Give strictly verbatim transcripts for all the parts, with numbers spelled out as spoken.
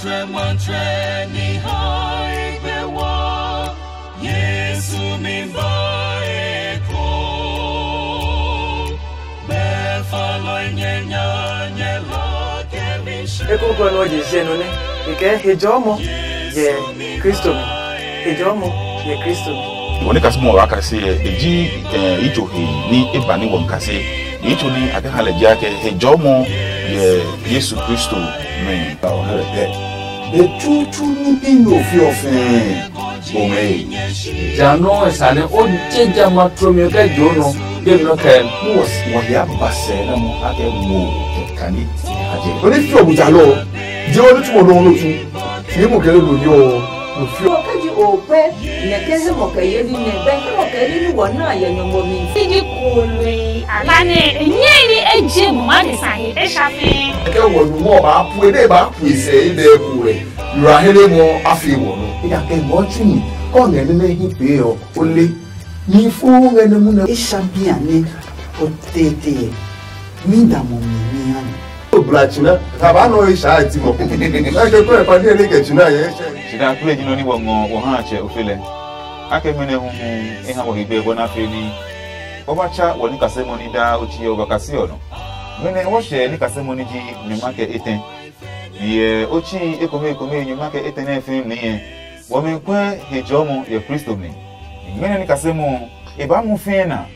Tue matsɛ ni hae gbe wa, Yesu mi ba eko. Be falɔi nyɛ nya nyɛ la kɛ mi hyɛ. Eko gɔ nɔ je je no ne. Ike he jɔ mo. Ye Kristo mi. He jɔ mo. Ye Kristo mi. Wɔ ni kasi mo wa kasi e ji e ijo he ni e ba ni wɔ kasi. Ni tso ni a kɛ ha lɛ ji ake he jɔ mo. Ye Yesu Kristo mi. Be tutu ni bi no fi ɔ fɛɛ. Bɔmɛi. Ja nɔ esa nɛ o je ja ma tlomi kɛ jo nɔ. Be nɔ kɛ. Wɔ ya ba sɛ na mo a kɛ mo kɛ kani. Aje. Oni fi obu ja lɔ. Je oni tu mo no no tu. Fi mo kɛ lo yo. Mo fi. Mo kɛ ji o pɛ. Nɛ kɛ he mo kɛ ye ni nɛ bɛ he mo kɛ ye ni wɔ na ye nyɔmɔ mi. Ti ji kului. Ala ne enye ni eje mo ma de sa he e sha fi. Kɛ wɔ nu mo ba pu e de ba pu e sɛ e de ku e. Yura hele mo a fi wɔ no. Ida kɛ mo chu ni. Kɔ ngɛ ne ne hi pe ɔ. O le. Mi fu ngɛ ne mu ne. E sha bia ne. O tete. Mi da mo mi mi ha ni. O bla china. Ka ba no e sha e ti mo. Na ke ko e pa ni ne ke china ye. Sida kule ji nɔ ni wɔ ngɔ wɔ ha tsɛ ofe lɛ. Akɛ mɛnɛ hu hu e ha wɔ hegbe bɔ na fe ni. O ba tsa wɔ ni kase mo ni daa o chi ɔ ba kasi ɔ nɔ. Mɛnɛ wɔ hyɛ ni kase mo ni ji nyuma kɛ etɛ. Ni yɛ o chi ekome ekome nyuma kɛ etɛ nɛ fɛm ni yɛ. Wɔmi kwɛ he jɔmɔ yɛ Kristo mi. Ni mɛnɛ ni kase mo e ba mu fɛɛ na.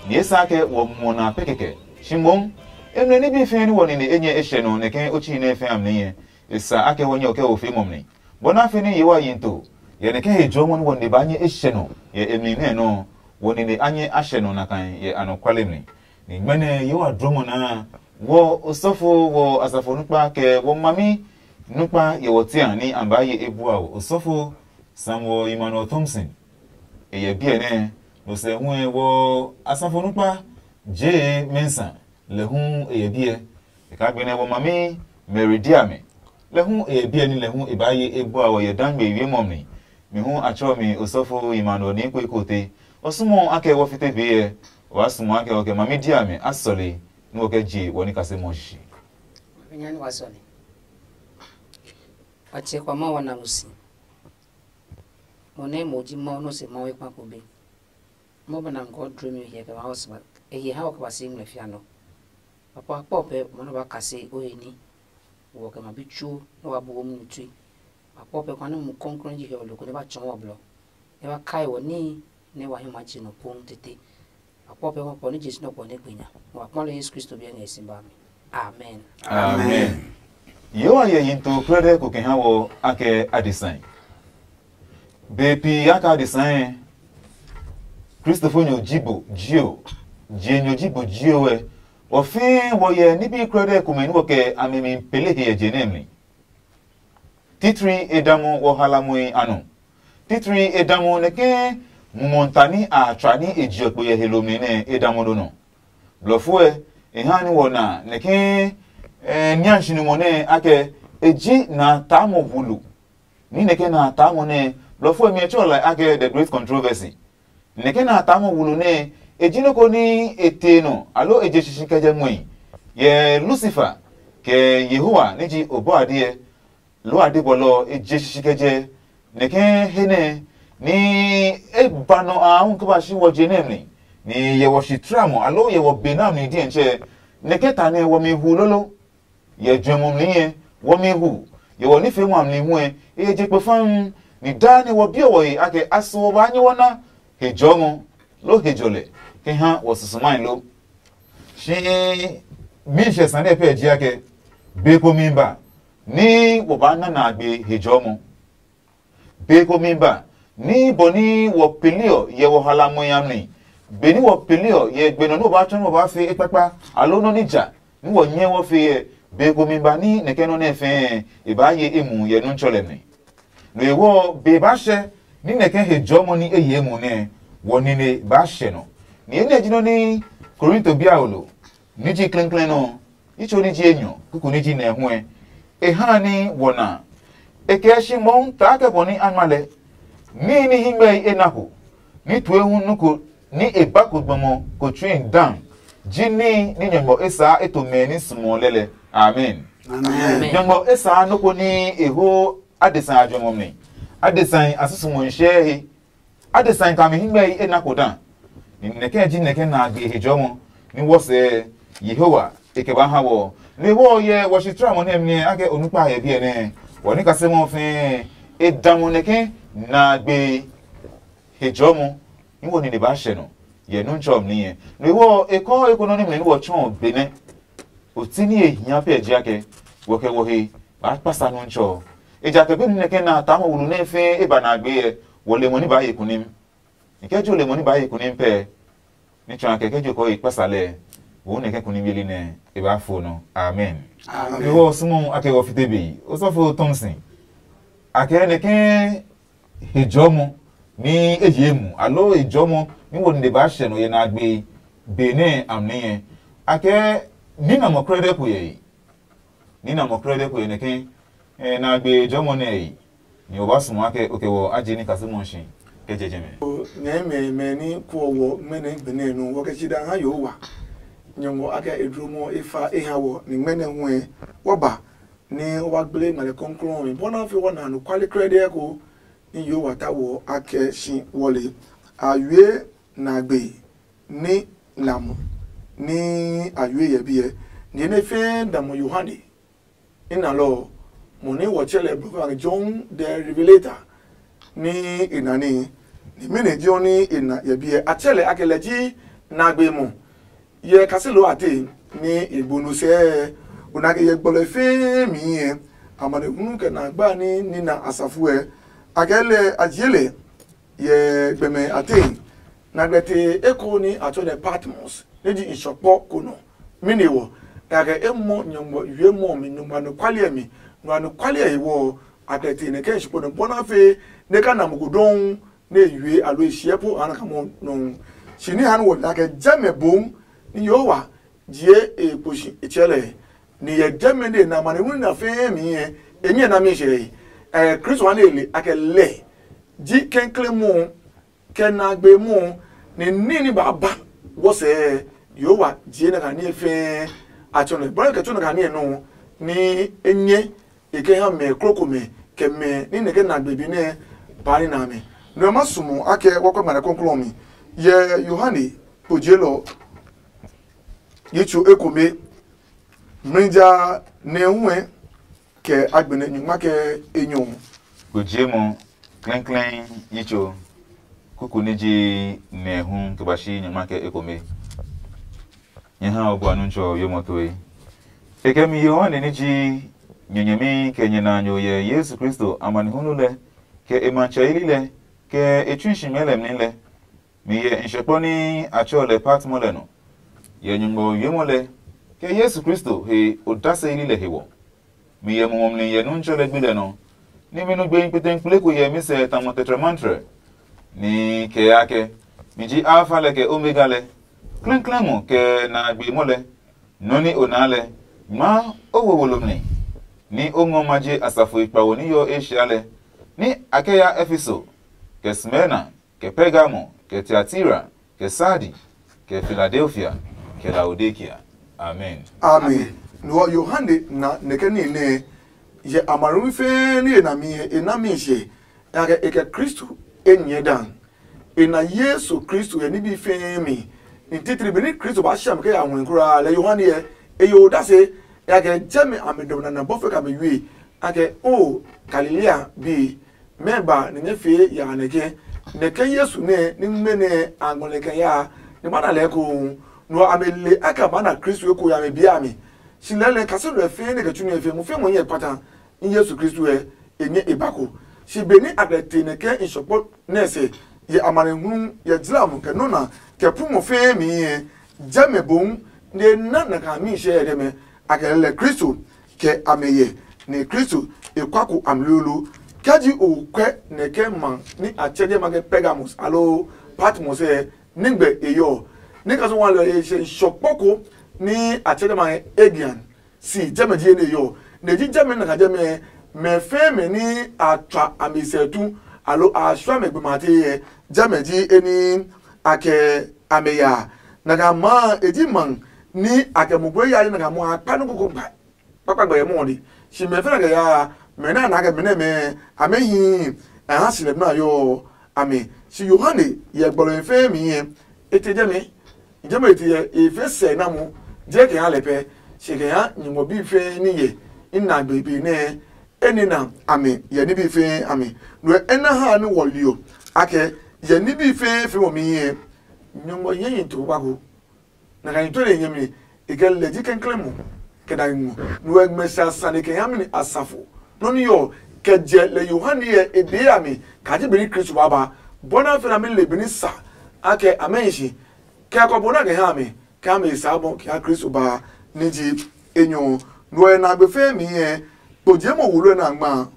Ni e sa kɛ wɔ muɔ na pe kɛkɛ. Shi moŋ, e mlɛ ní bi fɛɛ ní wɔ nine enyɛ e hyɛ nɔ nɛ ke o tsii nɛ e fɛ̃ amli nyɛ. E sa akɛ wɔ nyɛ ɔ kɛ wo fee mɔ mli. Bɔ nɛ a fe ní ye wa yi to, yɛ nɛ ke he jɔɔ mɔ ní wɔ nine baa nyɛ e hyɛ nɔ yɛ e mli nɛ nɔ ɔ, wɔ nine a nyɛ a hyɛ nɔ nakai yɛ anɔkuale mli. Ni ngmɛnɛ ye wa dlɔmɔ naa, wɔ osɔfo, wɔ asafo nukpa, kɛ wɔ mami nukpa yɛ wɔ tia ní a baa ye e bua o. Osɔfo Samuel Emmanuel Thompson, e yɛ biɛ nɛ, no sɛ hu ɛ wɔ asafo nukpa jee Mensa, lɛ hu e yɛ biɛ. E kaa gbenɛ wɔ mami Mary dia mɛ, lɛ hu e yɛ biɛ ní lɛ hu e baa ye e bua wɔ yɛ dangbe wiemɔ mi. Mi hu a tsɔ mi osɔfo Emmanuel ni ko eko te. O sumo akɛ wɔ fite be yɛ, o ba sumo akɛ wɔ kɛ mami dia mɛ a sɔle, nú wɔ kɛ je wɔ ní kase mɔ shishi. Mami nya ni wa sɔle. Wa tse kwa ma wa na mo si. Mo nɛ mo ji Mawu nɔ se Mawu ekpa ko be. Mo ba na ngɔ dro mi hiɛ kɛ ma hɔ sma. E hiɛ ha wɔ kɛ ba si ngmlɛ fia nɔ. Papa kpɔ pɛ mo nɔ ba kase o he ni. Wɔ kɛ ma bi tsuo nɔ wa bu wo mu tui. Papa kpɔ pɛ kwa ni mu kɔnkrɔn ji hiɛ wɔ loko ne ba tsɔɔ wɔ blɔ. Ne ba kai wɔ ni ne wa hi ma ji nɔ pong tete. Papa kpɔ pɛ kɔ ni Jesu nɔ kɔ ne gbe nya. Wa kpɔ le Yesu Kristo bi ngɛ si ba mi. Amen. Amen. Yehowa yɛ yin to krɛdɛ ko kɛ ha wɔ akɛ adesai. Be pi aka adesai. Kristofonyo ji bo jio, jienyo ji bo jio ɛ. Wɔ fɛɛ wɔ yɛ nibi krɛdɛ komɛ ni wɔ kɛ a mi mi pele he yɛ je nɛ mi. Titri e damu wɔ halamui a nɔ. Titri e damu nɛ ke mumɔ ta ni a tswa ni e jiɔ kpo yɛ he lomɛ nɛ e damu do nɔ. Blɔfo ɛ, e ha ni wɔ na nɛ ke eh, nianshi numɔ nɛ akɛ e ji na taamɔ wulu. Ni nɛ ke na taamɔ nɛ blɔfo ɛ mi ɛ tsɔ lɛ akɛ the great controversy. Nɛ ke na taamɔ wulu nɛ e ji nɔ ko ni e te nɔ alo e je shishi kɛ jɛ muɛi yɛ Lucifer kɛ Yehowa ni ji obɔ adiɛ. Lo a de bɔlɔ e je shishi kɛ jɛ nɛ ke he nɛ ni e ba nɔ a hu ke ba shi wɔ je nɛ mi ni yɛ wɔ shi tramɔ alo yɛ wɔ be na mi diɛntsɛ nɛ ke ta nɛ wɔ mi hu lolo. Yɛ juɛmɔ mli yɛ wɔ mi hu yɛ wɔ nifeemɔ a mli hu ɛ e je kpe fam. Ni daa nɛ wɔ biɔ wɔ he akɛ a so wɔ ba nyɛ wɔ na he jɔmɔ lo he jɔlɛ ke ha wɔ susumai lo. Shi mi hyɛ sane pɛ ji akɛ be ko mi ba ni wɔ ba na na gbe he jɔmɔ. Be ko mi ba ní bɔ ní wɔ peli ɔ yɛ wɔ halamɔ ya mli. Be ní wɔ peli ɔ yɛ gbe nɔ ní wɔ ba tsɔ ní wɔ ba fe ekpakpa alo nɔ ní ja ní wɔ nyɛ wɔ fe yɛ. Be ko mi ba ní nɛkɛ nɔ nɛ fɛɛ e ba ye emu yɛ nu tsɔ lɛ mli. No ewɔ be ba hyɛ ní nɛkɛ he jɔmɔ ní e ye emu nɛ wɔ nine ba hyɛ nɔ. Ni enɛ ji nɔ ní Korinto biaolo ní ji klɛnklɛn nɔ, yi tso ní ji enyɔ kuku ní ji nɛ huɛ. E ha ní wɔ na. E kɛ shi mɔu taa kɛ bɔ ní a ngma lɛ. Níhi ní hingmɛi e na ko ní tue hu nu ko ní e ba ko gbɔmɔ ko tsui dan ji níhi ní nyɔmɔ e saa e to mɛ ní sumɔ lɛ lɛ. Amen. Amen. Nyɔngmɔ e saa nɔ́ ko ní e ho adesa a juɛmɛ mi. Adesa a susumɔ nhyɛ he. Adesa kami hingmɛ e na ko da. Ni nɛkɛ ji nɛkɛ na gbe he jɔmɔ ni wɔ sɛ Yehowa e kɛ ba ha wɔ. Ni wɔ yɛ wɔ shi tra mo ne mi ake onukpa he biɛ ne. Wɔ ni kase mo fe e da mo nɛkɛ na gbe he jɔmɔ. Ni wɔ ni ne ba hyɛ no. Yɛ nu ntsɔ mi ye. Ni wɔ e kɔ e ko no ni mi ni wɔ chɔ be ne. O ti ni e hia pɛ ji ake. Wɔ kɛ wɔ he ba kpasa nu ntsɔ. Ejakaa be ni nɛkɛ na ta mo wulu ne fe e ba na gbe yɛ. Wɔ le mo ni ba ye kunim. Ni kɛ jo le mo ni ba ye kunim pɛ. Ni tsɔ akɛ kɛ jo kɔ ye kpasa lɛ. Wo nɛkɛ kunim yeli nɛ e ba fo nɔ. Amen. Amen. Ni wɔ sumo ake wɔ fite be. O sɔfo Thompson. Akɛ nɛkɛ he jɔmɔ ni e ye mu alo he jɔmɔ ni wo nde ba hyɛ no ye na gbe be ne amli yɛ. Akɛ ni na mɔ krɛdɛ ko yɛ. Ni na mɔ krɛdɛ ko yɛ nɛkɛ. Eh, na gbe jɔmɔ nɛ yi. Ni o ba sumo ake o kɛ wɔ aje ni kasu mɔ shi kɛ jɛjɛ mɛ. Nyɛɛ mɛ mɛ ni kuɔ wɔ mɛnɛ gbɛnɛ nu wɔ kɛ si da ha yo wa. Nyɔngɔ akɛ edromɔ efa eha wɔ ni mɛnɛ huɛ wɔ ba ni wa gble ngmɛlɛ kɔnklɔn mi bɔna fi wɔ na nu kwali krɛdɛ ko ni yo wa ta wɔ akɛ si wɔle. A yue na gbe ni lamɔ ni a yue yɛ biɛ. Ni ne fɛɛ damɔ Yohane. Ina lɔ ɔ, mo nɛ wɔ tsɛ lɛ blɔ John the Revelator ni e na ní. Ni mɛnɔ ji ɔ ni e na yɛ biɛ a tsɛ lɛ ake lɛ ji nagbe mɔ. Yɛ kaselo a te ni e gbo no sɛɛ o na ke yɛ gbɔlɔ fɛɛ mi yɛ amanehunu kɛ na gba ni nina asafo ɛ. A kɛ lɛ a jie lɛ yɛ gbɛmɛ a te. Nagbe te eko ni a tsɔ lɛ Patmos ne ji nsɔkpɔ ko nɔ. Mɛni wɔ? Kake e mɔ nyɔngmɔ yue mɔ mi nyɔngmɔ anɔkwali ɛ mi. Nɔ anɔkwali ɛ he wɔ a kɛ te nɛ kɛ nsɔkpɔ nɔ bɔna fe ne ka na mo ko dɔn ne yue alo e shiɛ po ana ka mɔ nɔ. Shi ni han wɔ la kɛ jɛmɛ bom ni Yehowa jie e kposhi e tsɛ lɛ. Ni yɛ jɛmɛ ne na mane wuni na fɛɛ mi yɛ e nyɛ na mi hyɛ. Ɛ Kristo wa ne e le a kɛ lɛ ji kɛnkle mu kɛ na gbe mu ni ní ní ba ba wɔ sɛ Yehowa jie na ka ní fɛɛ a tsɔ nɛ bɔlɛ kɛ tsɔ na ka ní nɔ ni e nyɛ e kɛ ha mɛ krokomɛ kɛ mɛ ní nɛ kɛ na gbe bi nɛ ba ní na mɛ. Nɔ ma sumu akɛ wɔkɔ mane kɔnklɔn mi yɛ Yohane kpojielɔ yitsu ekome mrija nɛ huɛ kɛ agbɛnɛ nyuma kɛ enyɔ. Gbojiemɔ klɛnklɛn yitso kuku ní ji nɛ hu kɛ ba shi nyuma kɛ ekome. Nyɛ ha o bua nu tsɔ yo mɔ toe. E kɛ mi Yohane ní ji nyɛnyɛmi kɛ nyɛ na nyo yɛ Yesu Kristo amanehulu lɛ kɛ e matsɛ yeli lɛ kɛ e tsui shi mɛɛ lɛ mli lɛ. Mi hyɛ nshɔkpɔ ní a tsɛɔ lɛ Patmo lɛ nɔ, yɛ Nyɔngma wiemɔ lɛ, kɛ Yesu Kristo he odaseli lɛ he wɔ. Mi hyɛ mumi ɔ mli yɛ Nuntsɔ lɛ gbi lɛ nɔ, nɛ mi nugbehi kpeteŋkple ko hyɛ mi sɛ tamɔ tɛtrɛmantrɛ, ní kɛɛ akɛ, mi ji Alfa lɛ kɛ Omega lɛ, klɛŋklɛŋ ɔ kɛ na a gbe mɔ lɛ. Nɔ́ nɛ o naa lɛ, ngmaa o wo wolo mli, ní o ngɔ ma je asafoi kpawo ní yɔɔ Asia lɛ, ní a kɛ ya Efeso, kɛ Smirna, kɛ Pergamo, kɛ Tiatira, kɛ Sardi, kɛ Filadelfia, kɛ Laodikea. Amen. Amen. Nuɔ Yohane na nɛkɛ ní nɛ yɛ amarumi fɛɛ ní e na mi e na mi she, yakɛ e kɛ Kristo e nyɛ dan. E na Yesu Kristo yɛ nibi fɛɛ mi. Ni titiri benɛ Kristo ba siami kɛ ya huɛ kulaa lɛ Yohane ɛ, e yo odase, yakɛ jɛmɛ a mi dɔmɔ nana bɔfo kɛ a mi yue, akɛ o Galilea bi. Mɛ ba ni nyɛ fee ya nɛ ke nɛ ke Yesu nɛ ni ngmɛ nɛ a ngɔ lɛ kɛ ya ni ba na lɛ ko. No a me le aka ba na Kristo ko ya me bia mi. Si lɛ lɛ kase lɛ fe ne ke tsu ne fe mu fe mo nyɛ pata in Yesu Kristo ɛ e nyɛ e ba ko. Si be ni a kɛ te nɛ ke in sɔkpɔ nɛ se ye amane hu ye jla mo kɛ nona kɛ pu mo fe mi ɛ jɛ me bom ne na na ka mi she ɛ dɛ mɛ a kɛ lɛ Kristo kɛ a mɛ yɛ, nɛ Kristo e kua ko a mlolo. Kɛ ji o kwɛ nɛ kɛ ma ni a tsɛ je ma kɛ Pergamos alo Patmos ɛ, nɛgbɛ e yɔ? Ni ka so wa lɛ e sɛ shɔkpɔ ko ni a tsɛ je ma kɛ Aegean si, jɛmɛ ji ne yɔ. Nɛ ji jɛmɛ na ka jɛmɛ mɛ fɛɛ mɛ ni a tswa a mi sɛ tu alo a shwa mɛ gbe ma te yɛ, jɛmɛ ji e ni a kɛ a mɛ ya. Na ka ma e ji man ni a kɛ mo gbe ya na ka mo a kpa no koko gba. kpakpa gbɛ yɛ mɔ ɔ de. Si mɛ fɛnɛ kɛ yaa mɛ na na kɛ mɛ nɛ mɛ amɛ hi a ha si lɛ bna yɔ amɛ. Si Yohane yɛ gbɔlɔ fɛ mi yɛ e te jɛ mɛ. Jɛ mɛ te yɛ e fɛ sɛ na mu jɛ kɛ ha lɛ pɛ. Si kɛ ha nyumo bi fɛ ni yɛ ina gbe be nɛ e ni na amɛ yɛ ni bi fɛ amɛ. No e na ha ni wɔ liɔ akɛ yɛ ni bi fɛ fɛ mɔ mi yɛ nyumo yɛ yi to ba ko. Na ka nyi tue nyɛmi e kɛ lɛ ji kɛnklɛn mo kɛ na ngɔ. Nu ɛ ngmɛ sa sane kɛ ha mi ni asafo. Nɔ ni yɔ kɛ jɛ lɛ Yohane yɛ e dee a mi ka ji beni Kristo ba ba. Bɔ na fɛ na mi le beni sa a kɛ a mɛ hi si kɛ kɔ bo na kɛ ha mi kɛ ha mi sa bɔ kɛ ha Kristo ba ni ji enyɔ. Nu ɛ na gbe fɛ mi yɛ kpo je mo wulu ɛ na ngma.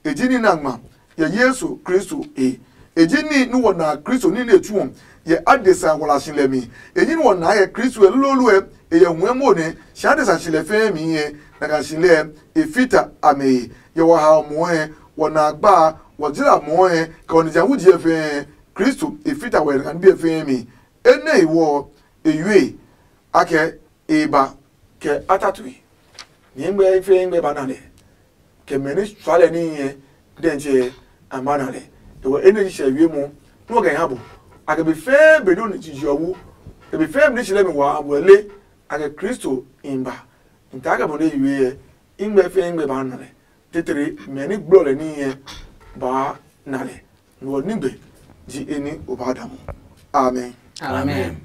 E ji ní nɛ a ngma yɛ Yesu Kristo he. E ji ní nɛ wɔ na Kristo ní nɛ e tsu ɔ yɛ adesa wla si lɛ mi. E ji ní wɔ na yɛ Kristo ɛ lolooloɛ e yɛ huɛ mo nɛ si adesa si lɛ fɛɛ mi yɛ na ka si lɛ e fita a mɛ he. Yɛ wɔ ha mɔɔ hɛ wɔ na gba wɔ jira mɔɔ hɛ kɛ wɔ nija wu jiɛ fɛɛ Kristo e fita wɛ na bi fɛɛ mi. Enɛ he wɔ e yue akɛ e ba kɛ a ta tue. Nyɛɛ ngmɛ fɛɛ ngmɛ ba na lɛ kɛ mɛ ni tsua lɛ níhi ɛ dɛntsɛ a ma na lɛ. Ewɔ enɛ ji sɛ wie mɔ nɔ kɛ ha bo a kɛ be fɛɛ be do ni jiji ɔ wu kɛ be fɛɛ be ni si lɛ mi wa a bɔ le a kɛ Kristo in ba. Nta kɛ bɔ ne yi we ɛ ingmɛ fɛɛ ingmɛ ba na lɛ tetere mɛ ni gblɔ lɛ níhi ɛ ba na lɛ. Nuɔ nigbe ji eni o ba da mo. Amen. Amen.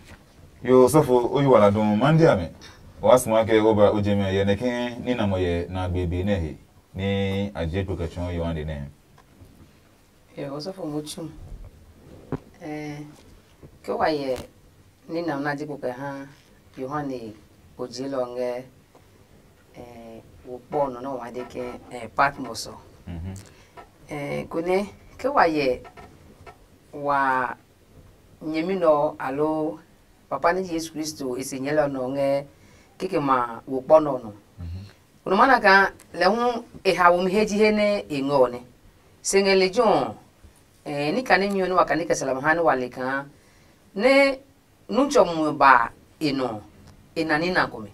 Yo sɔfo o yi wala dun mandi ame. Wa suma ke o ba o je me ye ne ke ni na mo ye na gbe be ne he. Ni a je kpo ke chon yo ande ne. Yo sɔfo mo chu. Eh, ke wa ye ni na na je kpo ke ha Yohane o je lo nge eh wo kpo no no wa de ke eh Patmos. Mhm. Eh, kone ke wa ye wa nyɛmi nɔ alo papa ni Yesu Kristo e se nyɛlɔ nɔ ngɛ kikɛ ma wo kpɔ nɔ nɔ. Kono mana ka lɛ hu e ha wo mi he ji he ne e ngɔ ne. Se ngɛ le jo eh ni kane nyu ne wa kane kɛ salam ha ne wa le ka ne nu tsɔ mu ba e nɔ e na ni na ko mi.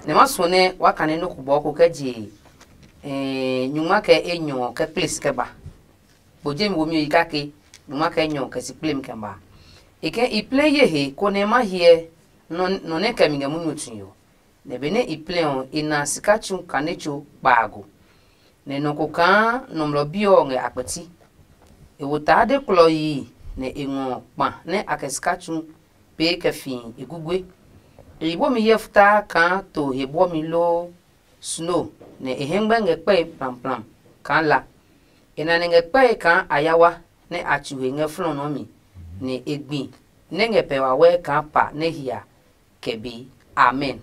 Ne ma so ne wa kane no ku bɔ ko kɛ je eh nyuma kɛ e nyɔ kɛ kplis kɛ ba. Bo je mi wo mi yi kake, numa kɛ nyɔ kɛ si kplem kɛ ba. E ke i ple ye he konɛ ma hyɛ nɔ nɛ kɛ mi ngɛ munyu tue ɔ. Nɛ benɛ i ple ɔ, i na sika tsu kane tso kpaago. Nɛ nɔ ko kaa nɔmlɔ bi ɔ ngɛ a kpɛti. E wo taa de klɔ yi nɛ e ngɔ kpa nɛ a kɛ sika tsu pee kɛ fi e gugue. E yi bɔmi hyɛ futaa kaa to he bɔmi loo sno, nɛ e hɛngmɛ ngɛ kpɛe plamplaam kaa la. E nane ngɛ kpɛe kaa ayawa nɛ a tsu he ngɛ flɔnɔ mi, nɛ e gbi nɛ ngɛ pɛ wawɛɛ kaa pa nɛ hia kɛ be. Amen.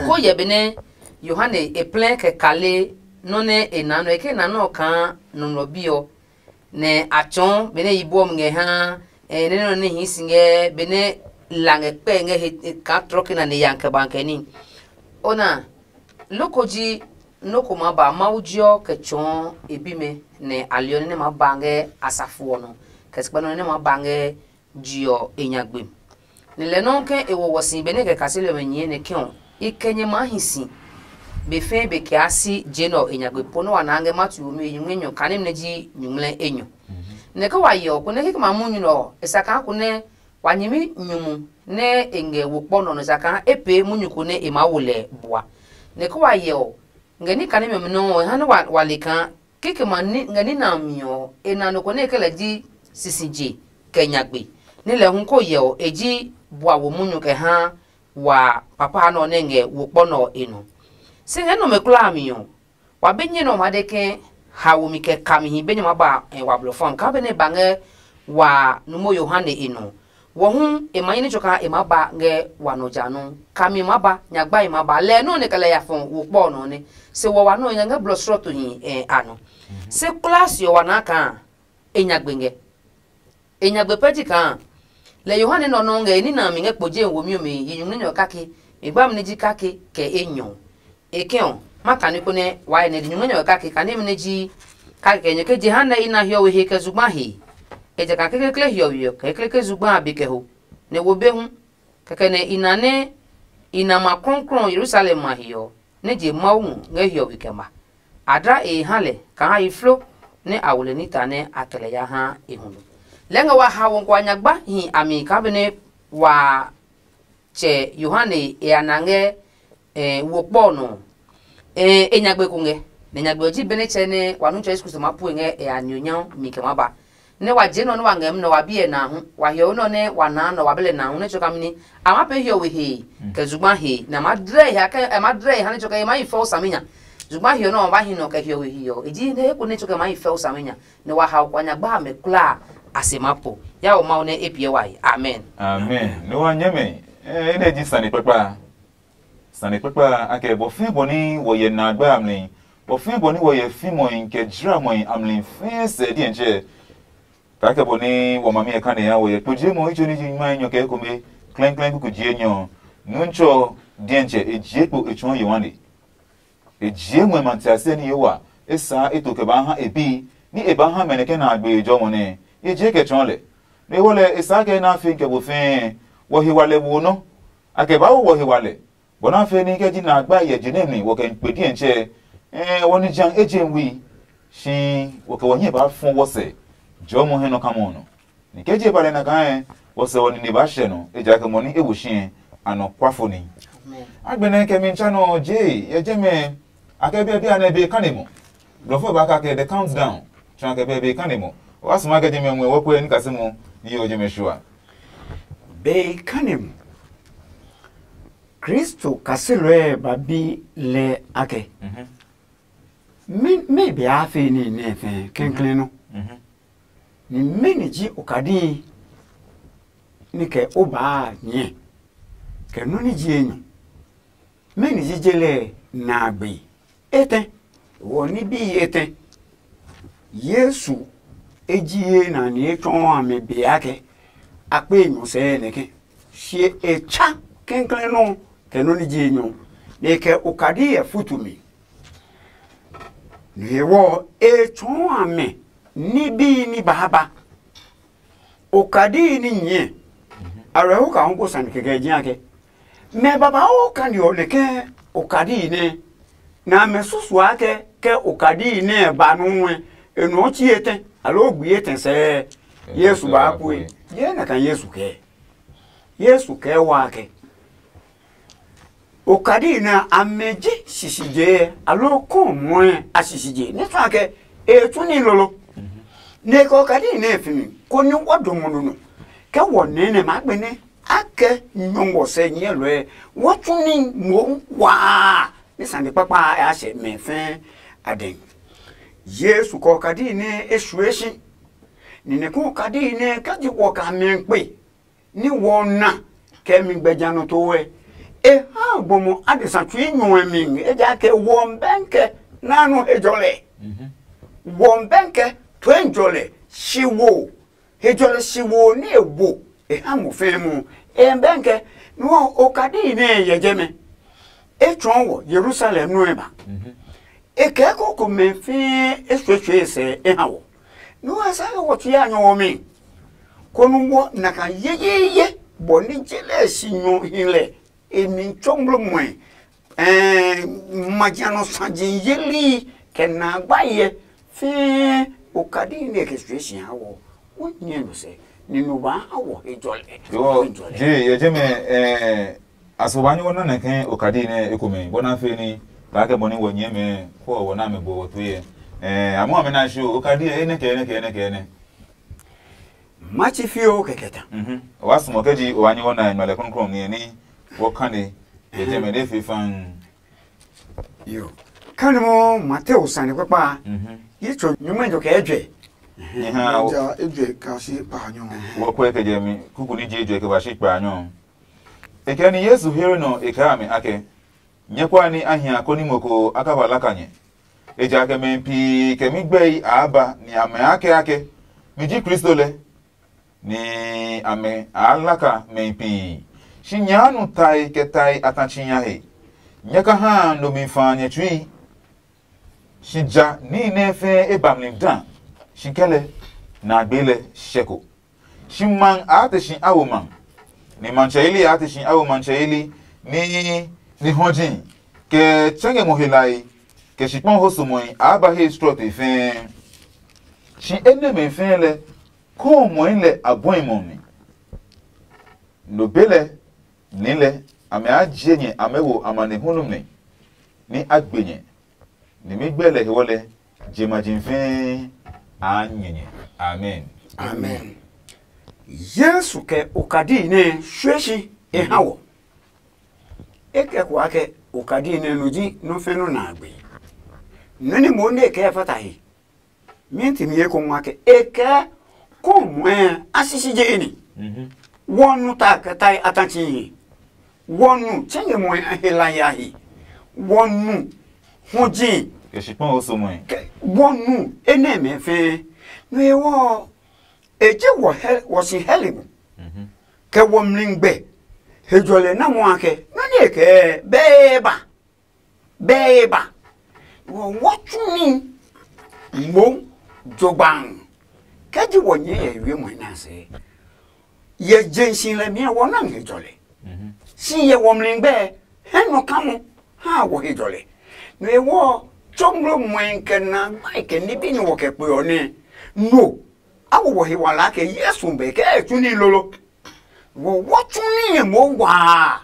Ko yɛ benɛ Yohane e plɛ kɛ kale nɔ́ nɛ e na nɔ e ke na nɔ kaa nɔmlɔ bi ɔ, nɛ a tsɔɔ benɛ yibo ɔ mi ngɛ ha nɛ nɔ ne hii si ngɛ benɛ la ngɛ kpɛ ngɛ he kaa trɔ ke na ne ya kɛ ba kɛ ni. Ona, loko ji noko ma ba Mawu jiɔ kɛ tsɔɔ e bimɛ nɛ a liɔ nɛ ma ba ngɛ asafo ɔ nɔ kɛ sikpɛ nɔ nɛ ma ba ngɛ jiɔ e nyagbe. Ni lɛ nɔuu ke e wo wɔ si benɛ e kɛ kaseli ɔmɛ nyɛɛ nɛ ke ɔ, i kɛ nyɛ maa hi si be fɛɛ be kɛ yaa si je nɛ ɔ e nyagbe po nɛ wa naa ngɛ Matiu womi e nyumu enyɔ kane nɛ ji nyuŋmlɛ enyɔ. Nɛ ke wa hyɛ ɔ, konɛ kikɛ ma munyu nɛ ɔ, e sa kaa konɛ wa nyɛmi nyumu nɛ e ngɛ wo kpɔ nɔ nɔ sa kaa e pee munyu ko nɛ e maa wo lɛ bua. Nɛ ke wa hyɛ ɔ, ngɛ ní kane mɛ nɔuu ɔ e ha nɛ wa le kaa kikɛ ma ngɛ ní nɛ a mi ɔ, e na nɔ ko nɛ e kɛ lɛ ji sisije kɛ nyagbe, nɛ lɛ hu ko hyɛ ɔ e ji bua wo munyu kɛ ha wa papa nɔ nɛ ngɛ wo kpɔ nɔ ɔ e nɔ. Se ngɛ nɔmɛ kulaa a mi ɔ, wa be nyɛ nɛ ɔ maa de ke haomi kɛ kamihi be nyɛ maa ba wa blɔ fam kaa benɛ e ba ngɛ wa numo Yohane e nɔ. Wɔ hu e ma nyɛ ní tso kaa e maa ba ngɛ wa nɔ ja nɔ. Kami maa ba, nyagbae maa ba, lɛ nɔ́ nɛ kɛ lɛ ya fɔ wo kpɔ nɔ nɛ. Se wɔ wa nɔ nya ngɛ blɔ srɔto hi a nɔ. Se kulaa se ɔ wa naa kaa e nyagbe ngɛ. E nyagbe pɛ ji kaa lɛ Yohane nɔ nɔ ngɛ e nina mi ngɛ kpo je womi ɔ mi yi nyumu nɛ nyɔ kake, mi gba mi ne ji kake kɛ enyɔ. E kɛ ɔ, ma kane konɛ wa ye nɛ di nyumu nɛ nyɔ kake kane mi ne ji kake kɛ nyɔ ke jehanɛ i na hiɔwe he kɛ zugba he. Ejakaa kekekle hiɔwe ɔ kɛ kekle zugba a be kɛ ho, nɛ wo be hu. Kɛkɛ nɛ i na nɛ i na ma krɔngkrɔng Yerusalem ma he ɔ, nɛ je Mawu ngɛ hiɔwe kɛ ma. A dla e ha lɛ kaa e flo nɛ a wo lɛ nita nɛ a kɛ lɛ ya ha e huno. Lɛɛ ngɛ wa ha wɔ kɛ wa nyagba hi a mi kaa benɛ wa tsɛ Yohane e ya na ngɛ eh, wo kpɔ ɔ nɔ. Eh, e nyagbe ko ngɛ, nɛ nyagbe ɔ ji benɛ tsɛ nɛ wa nu tsɔ Yesu Kristo maa pue ngɛ e a nionyam mi kɛ maa ba. Nɛ wa je nɔ nɛ wa ngɛ munɔ wa biɛ na hu, wa hiɔwe nɔ nɛ wa naa nɔ wa bɛlɛ na hu nɛ tsɔ kamini a maa pee hiɔwe he kɛ zugba he nɛ a maa dlɛ he a kɛ a maa dlɛ he ha nɛ tsɔ kɛ e maa yi fɛo saminya. Zugba hiɔ nɛ wa ba hi nɔ kɛ hiɔwe hiɔ e ji nɛ eko nɛ tsɔ kɛ maa yi fɛo saminya. Nɛ wa hao kua nyagba amɛ kulaa a se maa po. Ya wo Mawu nɛ e piɛ wa yi. Amen. Amen. Nɛ wa nyɛmɛ, eh, enɛ ji sane kpakpa. Sane kpakpa a kɛ bɔ fɛɛ bɔ nɛ wɔ yɛ na gba a mli, bɔ fɛɛ bɔ nɛ wɔ yɛ fimɔe kɛ jramɔe a mli fɛɛ sɛ diɛntsɛ. Kaakɛ bɔ nɛ wa mami ɛ kane ha wɔ yɛ kpo je mɔ itso ní ji nyumae nyɔ kɛ ekome klɛŋklɛŋ kuku jie nyɔ ɔ, nuntsɔ ɔ diɛntsɛ e jie kpo e tsɔɔ Yohane. E jie ngmɛ matiasɛ ní Yehowa e saa e to kɛ baa ha e bi ní e baa ha mɛ nɛ kɛ na a gbe e jɔmɔ nɛ e jie kɛ tsɔɔ lɛ. No e wɔ lɛ e saa kɛ na a fe kɛ bo fɛɛ wɔ he wa lɛ wo nɔ. A kɛ baa wo wɔ he wa lɛ bɔ nɛ a fɛ ní kɛ ji nɛ a gba hyɛ je nɛ mi wɔ kɛ kpe diɛntsɛ. Ɛɛ wɔ ni jã eje wi shi wɔ kɛ wɔ hiɛ baa fɔ wɔ sɛ jɔmɔ hɛ nɔ kamɔ ɔ nɔ. Ni kɛ je ba lɛ na kaa wɔ sɛ wɔ nine baa hyɛ nɔ ejakaa mɔ ni e wo shi a nɔ kwa fo ni. Agbɛnɛ kɛ mi tsa nɔ je yɛ jɛmɛ a kɛ biɛ biɛ nɛ be kane mɔ. Blɔfo ba ka kɛ the countdown tsa kɛ bɛ be kane mɔ. Wa suma kɛ jɛmɛ ngmɛ wɔ kɔɛ ni kase mɔ ni yɛ jɛmɛ shua. Be kane mɔ. Kristo kaselɔɛ ba bi lɛ akɛ, mɛ be a fe ní nɛ fɛ kɛnklɛn nɔ? Ni mɛni ji okadi ní kɛ o baa nyɛ kɛ nɔ́ ní ji enyɔ? Mɛni ji je lɛ na a gbe? Etɛ, wɔ ní bi etɛ. Yesu e ji ye na ni e tsɔɔ a mi be akɛ a kpe nyɔ sɛɛ nɛ ke. Sie e tsa kɛnklɛn nɔ kɛ nɔ́ ní ji enyɔ, nɛ e kɛ okadi yɛ futu mi. No hewɔ e tsɔɔ a mɛ ní bii ní baa ba. Okadi ní nyɛ, a rɛ hu ka hu ko sane kɛkɛ ji akɛ mɛ babauu kani ɔ nɛ ke okadi nɛ na mɛ susua kɛ ke okadi nɛ ba nu wɛ e nuɔ chi etɛ alo gbi etɛ sɛɛ. Yesu ba pue. Ye na kan Yesu kɛ. Yesu kɛ wa kɛ. Okadi nɛ amɛ ji sisije alo kɔmɔɛ a sisije nɛ fa kɛ e tsu ní lolo. Nɛ kɛ okadi nɛ fi mi koni wa do mo no. Kɛ wɔ nɛ nɛ ma gbe nɛ a kɛ nyɔngɔ sɛ nyɛ lɔɛ wa tsu ní mo waa. Ní sane kpakpa a sɛ mɛ fɛ a dɛ. Yesu kɛ okadi nɛ e sue si. Ni nɛ kɛ okadi nɛ ka ji wɔ ka mɛ kpe ní wɔ na kɛ mi gbɛja nɔ to wɛ. E ha gbɔmɔ adesa tsui nyɔɛ mi ejaakɛ wɔ bɛnkɛ nanu hejɔlɛ. Wɔ bɛnkɛ toenjɔlɛ si wo hejɔlɛ si wo ní e wo e ha mo fɛɛ mu. E bɛnkɛ nɔ okadi nɛ yɛ jɛmɛ. E tsɔɔ wɔ Yerusalem nɔɛ ba. E kɛɛ koko mɛ fɛɛ e suetsue sɛ e ha wɔ. Nú a sa wɔ tsu ya nyɔ wɔ mi. Konu wɔ na ka yeyeye bɔ ní je lɛ si nyɔ hi lɛ e mi tsɔ ngmlɔ muɛ. Ɛɛ majianɔ saji yeli kɛ na gba yɛ fɛɛ okadi nɛ kɛ sue si ha wɔ. Wo nyɛ no sɛ ni no ba ha wɔ e jɔlɛ. Yo je ye je me. Ɛɛ Aso ba nyugo nane ke okadi nɛ ekomɛ bɔ na fe ni ba ke bɔ ni wɔ nyɛ mɛ ko wɔ na mɛ bo wɔ tu yɛ. Eh, amu ame na shi okadi ɛ ne kɛ ne kɛ ne kɛ ne. Machi fio kɛkɛ ta. Mhm. Wa sumo ke ji o wa nyugo na nyugo le kronkron ni ni wɔ kane ye je mɛ ne fe fan. Yo. Kane mo Mateo sane kpakpa. Mhm. Yi tso nyugo jo kɛ jwe. Ni ha o. Ja ejwe ka shi pa nyo. Wɔ kwe ke je mi kuku ni je jwe ke ba shi pa nyo. E kɛ ni Yesu here nɔ e kaa mi ake, nyɛ kwa ni a hia koni mo ko a ka ba laka nyɛ. Ejakaa mɛ pi kɛ mi gbɛi a ba ni a mɛ ake ake, mi ji Kristo lɛ, ni a mɛ a laka mɛ pi. Shi nya nu tai kɛ tai a ta chi nya he. Nyɛ ka ha no mi fa nyɛ tsui. Shi ja níhi nɛ fɛɛ e ba mli da, shi kɛ lɛ nɛ a gbee lɛ shɛ ko. Shi maŋ a te shi a wo maŋ, ni matsɛ yeli a te shi a wo matsɛ yeli, ni ni hɔji kɛ tsɛ ngɛ ngɔ helae, kɛ shikpɔŋ ho somɔe a ba he srɔtoi fɛɛ. Shi enɛmɛ fɛɛ lɛ, kɔɔ mɔi lɛ a bɔi mɔ mi. No be lɛ, ni lɛ, amɛ a jie nyɛ amɛ wo amanehlu nɛ, ni a gbe nyɛ. Ni mi gbɛ lɛ hewɔ lɛ, je ma ji fɛɛ a nyɛ nyɛ. Amen. Amen. Yesu kɛ okadi nɛ shue shi e ha wɔ. E kɛ kua kɛ okadi nɛ no ji nɔ fɛ nɔ na gbe. Nɔ ni mo ne kɛ fata he. Mi ti mi eko ngwa kɛ e kɛ ko mwe a sisi je ni. Wɔnu ta kɛ tai atachi. Wɔnu chenge mwe a hela ya hi. Wɔnu hoji. Kɛ shikpɔn o so mwe. Wɔnu ene me fe. No e wo e je wo he wo si heli mu. Kɛ wo mlingbe. He jɔlɛ na mo akɛ no ne kɛ be ba. Be ba. Wo wo tsu ni. Mo jogban. Kɛ ji wo nye ye wie mo na se. Ye jensi lɛ mi wo na he jɔlɛ. Si ye wo mlingbe. He no kamo. Ha wo he jɔlɛ. No e wo chonglo mwen kɛ na gbai kɛ ni bi no wo kɛ kpe ɔ ne. No. Awo wo he wala kɛ Yesu be kɛ e tsu ni lolo. Wo wo tsu ni ye mo wa.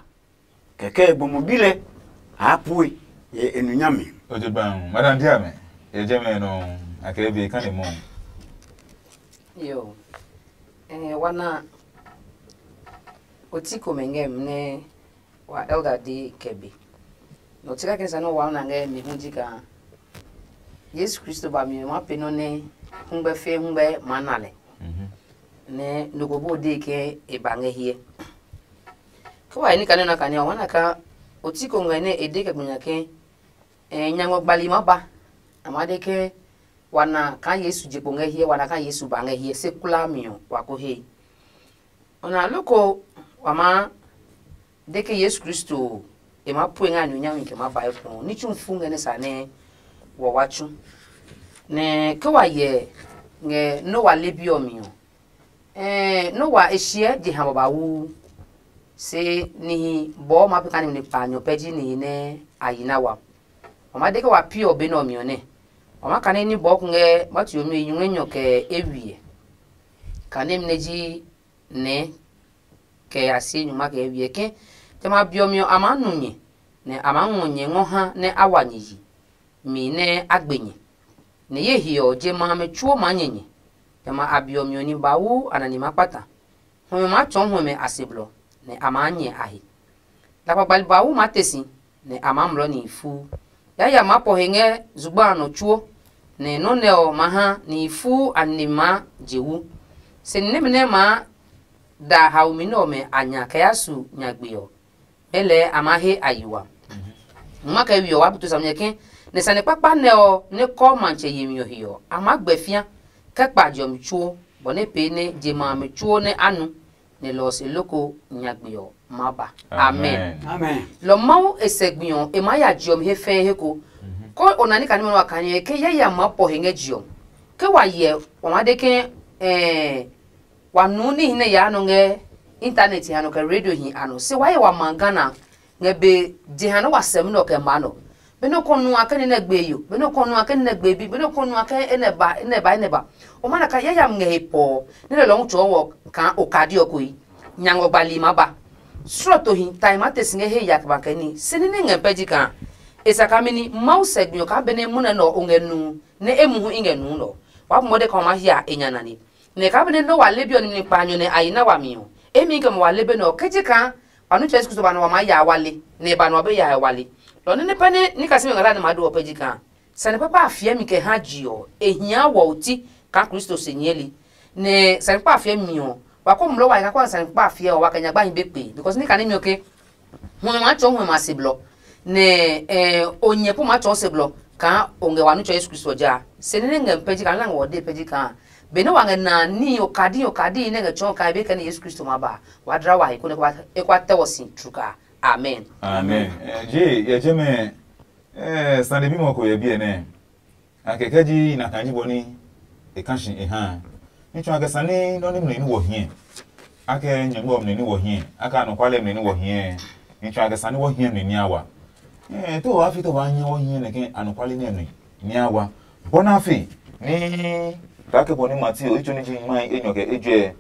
Kɛkɛ e gbɔmɔ bi lɛ a pue ye e nu nyami. O je gban madam dia me. Ye je me no. Akɛ be kan de mo. Yo. Eh, wana oti ko me ngɛ mne wa elder di kɛbe. No tika kin sa no wa na ngɛ mi hu jika. Yesu Kristo ba mi ma pe no ne hungbe fe hungbe ma na le. Ne no ko bo de ke e ba ngɛ hiɛ. Ke wa ni kane na kane wa na ka oti ko ngɛ ne e de ke gbunya ke eh nyangɔ gbali ma ba. Ama de ke wa na ka Yesu je ko ngɛ hiɛ, wa na ka Yesu ba ngɛ hiɛ se kula mi ɔ wa ko he. Ona loko wa ma de ke Yesu Kristo e ma pue nga nu nyami ke ma ba e ko ni tsu fu ngɛ ne sa ne wa wa tsu. Ne ke wa ye nge no wa le bi ɔ mi ɔ. Eh, no wa e shiɛ je ha baba wu. Se nihi bɔ ma pe ka ni ne pa nyɔ pɛ ji nihi ne a yi na wa. Wa ma de ke wa pi ɔ be nɛ ɔ mi ɔ nɛ. Wa ma kane ní bɔɔ kungɛ ma tio mi nyuŋɛ nyɔ kɛ e wiɛ. Kane mi nɛ ji nɛ kɛ a sie nyuma kɛ e wiɛ ke jamɛ a biɔ mi ɔ a maa nu nyɛ, nɛ a maa ngɔ nyɛ ngɔ ha nɛ a wa nyɛ yi, mi nɛ a gbe nyɛ. Nɛ ye he ɔ, je ma amɛ tsuo maa nyɛ nyɛ. Jamɛ a biɔ mi ɔ ní bawu a na ni maa kpata. Huɛmɛ maa tsɔɔ huɛmɛ a se blɔ, nɛ a maa nyɛ a he. Lakpagbali bawu maa te si, nɛ a maa mlɔ nihi fuu. Yaya maa pɔ he ngɛ zugba a nɔ tsuo, nɛ nɔ́ nɛ ɔ maa ha nihi fuu a nine maa je wu. Se ni nɛmɛ nɛ maa da haomi nɛ ɔmɛ a nya kɛ ya su nyagbe ɔ, mɛlɛɛ a maa he a yi wa. Nyuma kɛ we ɔ, waa butu samɛ ke nɛ sane kpakpa nɛ ɔ nɛ kɔ matsɛ yemi ɔ he ɔ, a maa gbɛ fĩa kɛ kpa jɔmi tsuo, bɔ nɛ pee nɛ je ma amɛ tsuo nɛ a nu, nɛ lɔ ɔ se loko nyagbe ɔ maa ba. Amen. Lɔ Mawu e sɛ gbi ɔ, e maa ya je ɔ mi he fɛɛ he ko. Ko o na ní kani ma wa kani ke yaya maa pɔ he ngɛ je ɔ. Ke wa yɛ, wa maa de ke ɛɛ wa nuu níhi nɛ yaa nɔ ngɛ intanɛt a nɔ kɛ radio hi a nɔ. Se wa yɛ wa ma Ghana ngɛ be jeha nɛ wa sɛmi nɔ kɛ ma nɔ. Benɛ o kɔ nu a kɛ ni nɛ gbe yo, benɛ o kɔ nu a kɛ ni nɛ gbe bi, benɛ o kɔ nu a kɛ enɛ ba, enɛ ba, enɛ ba. O ma na ka yayami ngɛ he pɔɔ, nɛ lɛ lɔɔ tsɔɔ wɔ kaa okadi ɔ koyi. Nyangɔ gbali ma ba. Srɔtohi tai ma te si ngɛ he ya kɛ ba kɛ ni. Se ní nɛ ngɛ pɛ ji kaa. E sa kaa mɛni Mawu sɛ gbi ɔ kaa benɛ munɛ nɛ ɔ o ngɛ nu, nɛ e muhu i ngɛ nu nɔ. Wa bu mɔde kaa o ma hia e nya nane. Nɛ kaa benɛ Noa le bi ɔ nimli kpaanyɔ nɛ a yi na wami ɔ, emi kɛ mo wa le be nɛ ɔ, ke ji kaa wa nu Yesu Kristo ba nɔ wa maa ya wale, nɛ e ba nɔ be ya wale. Lɔ nɛ ne pɛ ne ni kasimi ngala ne ma do ɔ pɛ ji kaa. Sane papa a fiɛ mi kɛ ha ji ɔ, e hia wɔ oti kaa Kristo se nyɛɛli. Nɛ sane papa a fiɛ mi ɔ, wa ko mlɔ wa ka kɔ sane papa a fiɛ ɔ, wa kɛ nyagba hi be kpe, because ni kane mi ɔ ke Hwɔmɛ maa tsɔɔ hwɔmɛ a se blɔ, nɛ eh, o nyɛ po maa tsɔɔ se blɔ kaa o ngɛ wa nu tsɔ Yesu Kristo ja. Se ní nɛ ngɛ pɛ ji kaa na ngɛ wɔ de pɛ ji kaa benɛ wa ngɛ na ní okadi okadi nɛ ngɛ tsɔɔ kaa be kɛ ni Yesu Kristo ma ba, wa dla wa he konɛ e kwa tɛ wɔ si tru kaa. Amen. Amen. Eh, je yɛ je mɛ eh, sane bimɔ ko yɛ biɛ nɛ. A kɛkɛ ji na kaa ji bɔ ní e ka shi e ha a. Ní tsu a kɛ sane nɔ́ ní mlɛ ní wɔ hiɛ. A kɛ nyɛngmɛ ɔ mlɛ ní wɔ hiɛ. A kɛ anɔkualɛ mlɛ ní wɔ hiɛ. Ní tsu a kɛ sane wɔ hiɛ mlɛ ní a wa. Ɛɛ, to wa fi to wa nyɛ wɔ hiɛ nɛ kɛ anɔkwale nɛ nui ni a wa. Bɔ na fi ni ta ke bɔ ni Mateo itso ni ji nyumae enyɔ kɛ ejɛ.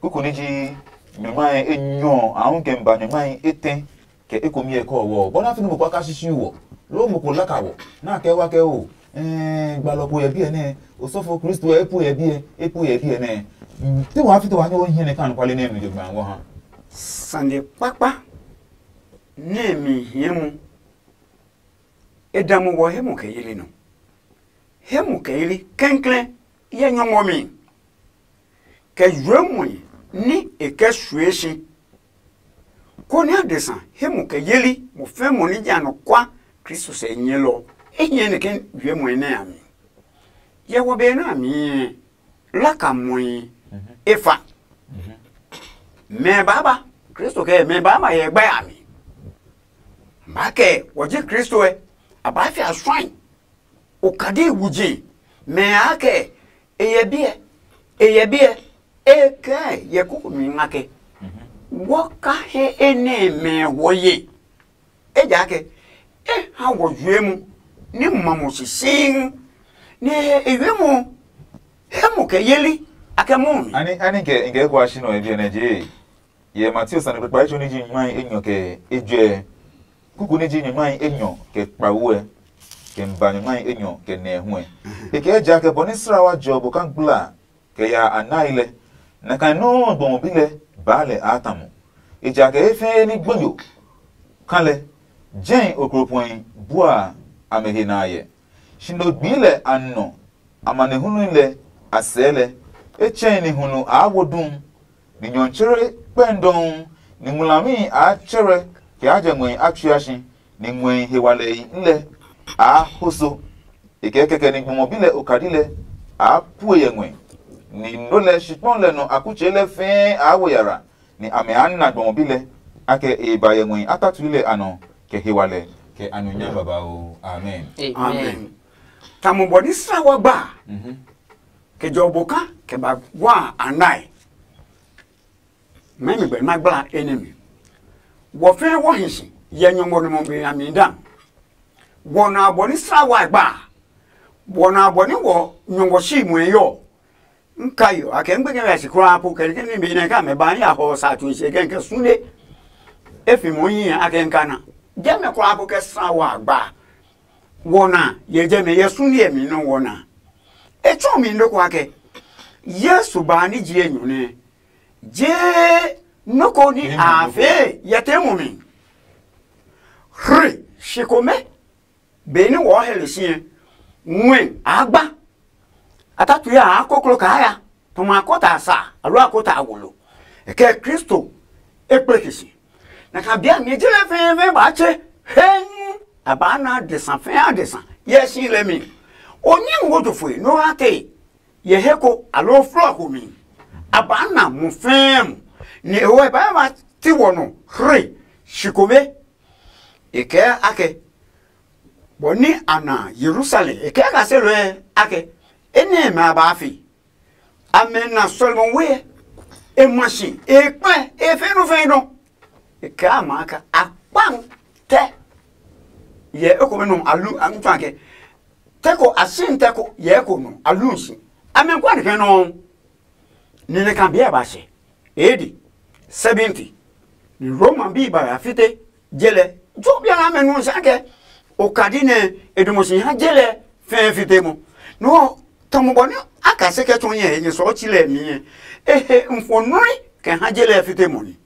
Kuku ni ji nyumae enyɔ a hu kɛ ba nyumae etɛ kɛ ekomi ɛ kɔ wɔ. Bɔ na fi ni mo kwa ka shishi wɔ. Lo mo ko laka wɔ. Na kɛ wa kɛ o. Ɛɛ, gbalɔ ko yɛ biɛ nɛ. Osɔfo Kristo ɛ epu yɛ biɛ, epu yɛ biɛ nɛ. Te wa fi te wa nyɛ wɔ hiɛ nɛ ka anɔkwale nɛ nui je gba wɔ ha. Sane kpakpa nɛ mi hie mu. E da mo wɔ he mo kɛ yeli nɔ. He mo kɛ yeli kɛnklɛn yɛ nyɔngmɔ mi. Kɛ yuemɔe ní e kɛ sue si, konɛ adesa he mo kɛ yeli mo fɛ mo ní jɛ anɔkwa Kristo sɛ nyɛlɔ. E hiɛ nɛ ke yuemɔe nɛ a mi. Yɛ wɔ be nɛ a mi laka mɔe e fa. Mɛ baaba Kristo kɛ mɛ baaba yɛ gbɛ a mi. Ba kɛ wɔ ji Kristo ɛ, a ba fi a suai. Okadi wuji mɛ a kɛ e yɛ biɛ, e yɛ biɛ, e kɛ yɛ kuku mi nga kɛ. Wɔ ka he e nɛ mɛ wɔ ye. Ejaakɛ e ha wɔ yue mu ni ma mo sisiŋ. Nɛ e yue mu he mo kɛ yeli a kɛ mo mi. Ani ani kɛ nke kwa shi nɔ e biɛ nɛ je. Yɛ Mateo sane kpekpa etso ni ji nyumae enyɔ kɛ ejwɛ. Kuku ni ji nyumae enyɔ kɛ kpawo ɛ, kɛ ba nyumae enyɔ kɛ nɛ hu ɛ. E kɛ ja kɛ bɔ ni sra wa jɔ bo ka gbla kɛ ya a nai lɛ. Na kan nɔuu gbɔmɔ bi lɛ baa lɛ a ta mo. Ejakaa e fɛɛ ni gbonyo ka lɛ, jɛi okropɔi bua amɛ he na yɛ. Shi no gbii lɛ a nɔ amanehlu lɛ a sɛɛ lɛ. E tsɛ̃ ni hulu aa wo duu, ni nyɔtsere kpɛndɔuu, ni ngmlami aa tsɛrɛ kɛ a jɛ ngmɛhi a tsua si, ni ngmɛhi hewalɛi lɛ aa hoso. E kɛɛ kɛkɛ ni gbɔmɔ bi lɛ okadi lɛ aa pue yɛ ngmɛ, ni no lɛ shikpɔn lɛ nɔ akutsei lɛ fɛɛ aa wo yara, ni amɛ aa na gbɔmɔ bi lɛ, akɛ e ba yɛ ngmɛhi a tatui lɛ a nɔ kɛ hewalɛ kɛ anunyam babauu. Amen. Amen. Tamɔ bɔ ni sra wa gba kɛ jɔ bo ka kɛ ba wa a nae. Mɛmi gbɛ ma gbla enɛ mi. Wɔ fɛɛ wɔ hi si yɛ nyɔngmɔ nɔmɔ be a mi da. Wɔ na bɔ ni sra wa gba. Wɔ na bɔ ni wɔ nyɔngmɔ si muɛ yɔ. N ka yo a kɛ n gbɛkɛ wɛ si kura po kɛ ni mi ne ka mɛ ba ya hɔ sa tu se kɛ kɛ sunde. E fi mo yi a kɛ n ka na. Jɛ mɛ kura po kɛ sra wa gba. Wɔ na yɛ jɛ mɛ yɛ sunde mi no wɔ na. E tsɔ mi ndo kwa kɛ. Yesu ba ni ji e nyune. Je noko ni a fe yɛ te mo mi. Hre shi ko mɛ. Benɛ wɔɔ hɛ le si ɛ, ngmɛ a gba. A ta tue a koklo kaa ya, tuma a kota a sa, aloo a kota a wolo. E kɛ Kristo e kpleke si. Na ka bia mi ji lɛ fɛɛfɛɛ ba tse hɛŋ. A ba na adesa fɛɛ adesa yɛ si lɛ mi. O nyɛ wo jo foi no ha te yɛ he ko aloo flɔ ko mi. A ba na mo fɛɛ mo. Ni e wo e ba ma ti wɔ nɔ hre shi kome. E kɛɛ akɛ, bɔ ni a na Yerusalem, e kɛɛ kaselɔe akɛ, enɛ mɛ a baa fi. Amɛ na sɔlemi we, e ma si, e kpɛ, e fɛ nɔ fɛ nɔ. E kɛɛ a ma ka a kpan tɛ. Yɛ ekomɛ nɔ a lu a ntɔ akɛ, tɛ ko a sin tɛ ko yɛ eko nɔ a lu si. Amɛ kwa ni kɛ nɔ. Ni nɛ kan biɛ ba sɛ. Edi seventy. Ni Roma bi ba ya fite je lɛ. Jo bia na mɛ nu sa kɛ o kadi nɛ e dumo si ha je lɛ fɛɛ fite mo. No tɔmɔ bɔ ni a ka se kɛ tun yɛ nyɛ sɔ chi lɛ mi yɛ. E he n fo nui kɛ ha je lɛ fite mo ni.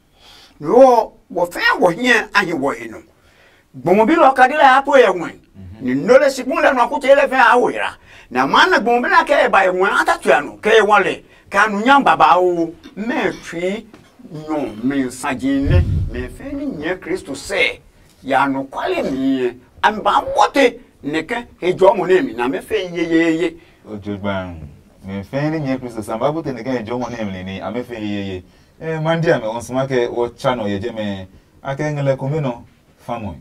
No wɔ fɛɛ wɔ hiɛ a hi wɔ e nɔ. Gbɔmɔ bi lɛ ɔ kadi lɛ a po yɛ ngmɛ. Ni no lɛ sikun lɛ nɔ kute lɛ fɛ a wo yra. Na ma na gbɔmɔ bi lɛ kɛ e ba e ngmɛ a ta tua nɔ kɛ e wɔ lɛ kɛ a nu nya babauu mɛ tsui nyɔ mi saji nɛ mɛ fɛ ni nyɛ Kristo sɛ ya nɔ kwale mi yɛ a mi ba bote nɛ kɛ he jɔ mo ne mi na mɛ fɛ ye ye ye. O jo gban. Mɛ fɛ ni nyɛ Kristo sɛ ba bote nɛ kɛ he jɔ mo ne mi ni a mɛ fɛ ye ye. Eh, mandi a mɛ on sma kɛ wo cha no ye je mɛ a kɛ ngele kome no famoi.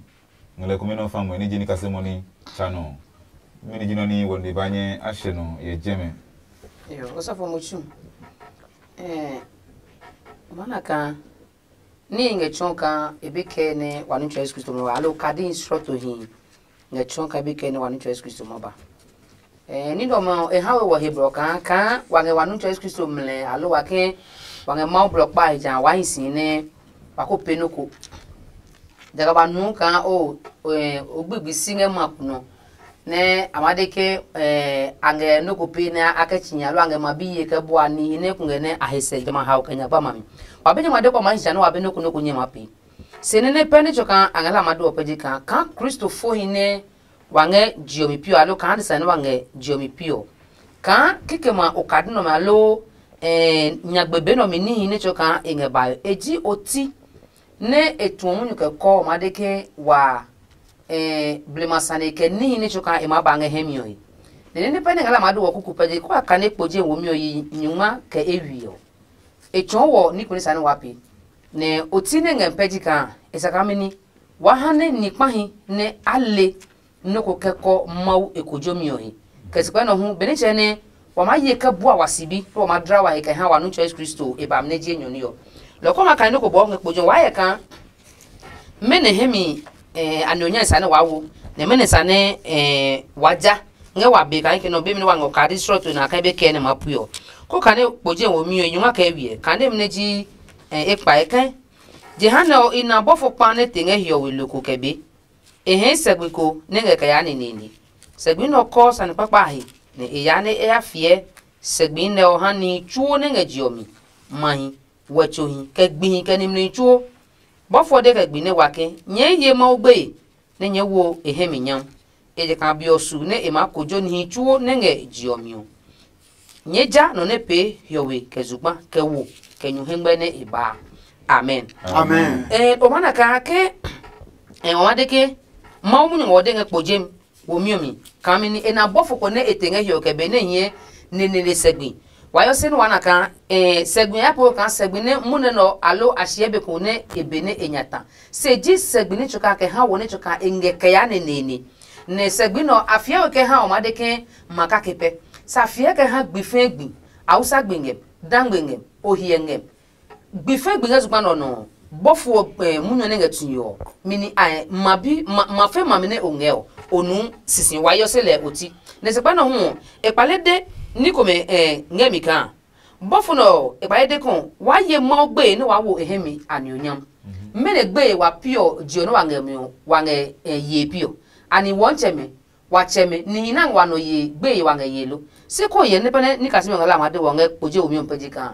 Ngmlɛ kome nɔ fa ngmɛ ní ji ní kasemɔ ní tsa nɔ. Mɛni ji nɔ ní wɔ nde ba nyɛ a hyɛ nɔ yɛ jɛmɛ? Yo, osɔfo mo tsu. Eh, mana ka Níhi ngɛ tsɔɔ kaa e be kɛɛ nɛ wa nu Tsɛ Yesu Kristo ma ba, aloo kadi srɔtohi ngɛ tsɔɔ kaa e be kɛɛ nɛ wa nu Tsɛ Yesu Kristo ma ba. Ɛɛ, ní nɛ ɔmɛ ɔ, e ha we wɔ he blɔ kaa, kaa wa ngɛ wa nu Tsɛ Yesu Kristo mlɛ, aloo wa ke wa ngɛ Mawu blɔ kpa he ja wa hi si nɛ wa ko pee nɔ́ ko. Jaga ba nu kaa o, o gbigbi si ngɛ ma ko nɔ nɛ a ma de ke a ngɛ nɔ́ ko pee nɛ a kɛ tsi nya aloo a ngɛ ma biye kɛ bua nihi nɛ kungɛ nɛ a he sɛ jamɛ a hao kɛ nya gba ma mi. Wa be nyɛ ma de kɔ ma hi sia nɛ wa be nɔ́ ko nɔ́ ko nyɛ ma pee. Se nɛ nɛ pɛ nɛ tsɔ kaa a ngɛ la ma do ɔ pɛ je kaa kaa Kristo fohi nɛ wa ngɛ je ɔ mi piɔ aloo kaa adesa nɛ wa ngɛ je ɔ mi piɔ. Kaa kikɛ ma okadi nɔmɛ aloo nyagbe be nɔmi níhi nɛ tsɔ kaa e ngɛ bae e ji oti nɛ e tuɔ munyu kɛ kɔ ɔ maa de ke wa blema sane kɛ níhi nɛ tsukaa e maa ba ngɛ hɛ mi ɔ he. Nɛ nɛ pɛ nɛ ngɛ la maa do wɔ kuku pɛ je kó a kane kpo je womi ɔ yi nyungma kɛ e wi ɔ. E tsɔɔ wɔ ní kuni sane wa pe. Nɛ oti nɛ ngɛ pɛ ji kaa e sa kaa mɛni wa ha nɛ ni kpahi nɛ a le nɔ́ ko kɛ kɔ Mawu e kojomi ɔ he. Kɛ sikpɛ nɔ hu benɛ tsɛ nɛ wa maa ye kɛ bua wa sibi nɛ wa maa dla wa he kɛ ha wa nu tsɔ Yesu Kristo e ba mi nɛ ji enyɔ ní ɔ. Lɔ kɔ ma kane nɔ́ ko bɔɔ ngɛ kpo jɔ wa yɛ kaa mɛnɔ hɛ mi a nɔ nya sa nɛ waa wo, nɛ mɛnɔ sa nɛ waa ja ngɛ wa be kaa ke nɔ be mi nɛ wa ngɔ kadi srɔto na ka be kɛ nɛ ma pui ɔ. Ko kane kpo je wo mi ɔ nyuma kɛ wiɛ kane mi nɛ ji e kpa e kɛ. Jehanɛ ɔ i na bɔfo kpa nɛ te ngɛ hiɔwe loko kɛ be. E hɛɛ sɛgbi ko nɛ ngɛ kɛ yaa neneene. Sɛgbi nɛ ɔ kɔɔ sane kpakpa a he, nɛ e yaa nɛ e ya fiɛ sɛgbi nɛ ɔ ha nihi tsuo nɛ ngɛ je ɔ mi, mahi, wɛtsohi, kɛ gbihi, kɛ nimlihi tsuo. Bɔfo ɔ de kɛ gbi nɛ wa ke, nyɛɛ ye Mawu gbeye, nɛ nyɛɛ wo e hɛ mi nyam. Ejakaa be ɔ su nɛ e maa kojo nihi tsuo nɛ ngɛ je ɔ mi ɔ. Nyɛɛ ja nɔ nɛ pee hiɔwe kɛ zugba kɛ wo kɛ nyu hɛngmɛ nɛ e baa. Amen. Amen. Eh, o mana kaa ke eh, o ma de ke Mawu munyu ngɔ de ngɛ kpo jem wo mi mi. Kami ni e na bɔfo ko nɛ e te ngɛ hiɔ kɛ be nɛ hiɛ ne ne ne sɛgbi. Wa yɔ se ni wa na kaa eh, sɛgbi ya po kaa sɛgbi nɛ mu nɛ nɔ alo a shiɛ be ko nɛ e be nɛ e nya ta. Se ji sɛgbi ni tsoka kɛ ha wo ni tsoka e ngɛ kɛ ya ne ne ne. Nɛ sɛgbi nɔ a fiɛ we kɛ ha o ma de ke ma kake pɛ. Sa fiɛ kɛ ha gbi fɛɛ gbi. Hausa gbi ngɛ, dangbe ngɛ, ohiɛ ngɛ. Gbi fɛɛ gbi ngɛ zugba nɔ nɔ. Bɔfo ɔ eh, munyu nɛ ngɛ tui ɔ. Mini ai ma bi ma ma fɛ ma mi nɛ o ngɛ ɔ. O nu sisi wa yɔ se lɛ o ti. Nɛ sɛgba nɔ hu ɔ, e kpale de ni komɛ eh, ngɛ mi kaa. Bɔfo nɛ ɔ, e kpale de kɔ, waa ye Mawu gbeye nɛ waa wo e hɛ mi a nionyam. Mɛnɔ gbeye wa piɔ je ɔ nɛ wa ngɛ mi ɔ, wa ngɛ eh, ye piɔ. Ani wɔntsɛmɛ, wa tsɛmɛ, nihi nɛ wa nɔ ye gbeye wa ngɛ ye lo. Se ko yɛ nɛ pɛnɛ ni kasimi ngɛ la ma de wɔ ngɛ kpoje omi ɔ pɛ ji kaa.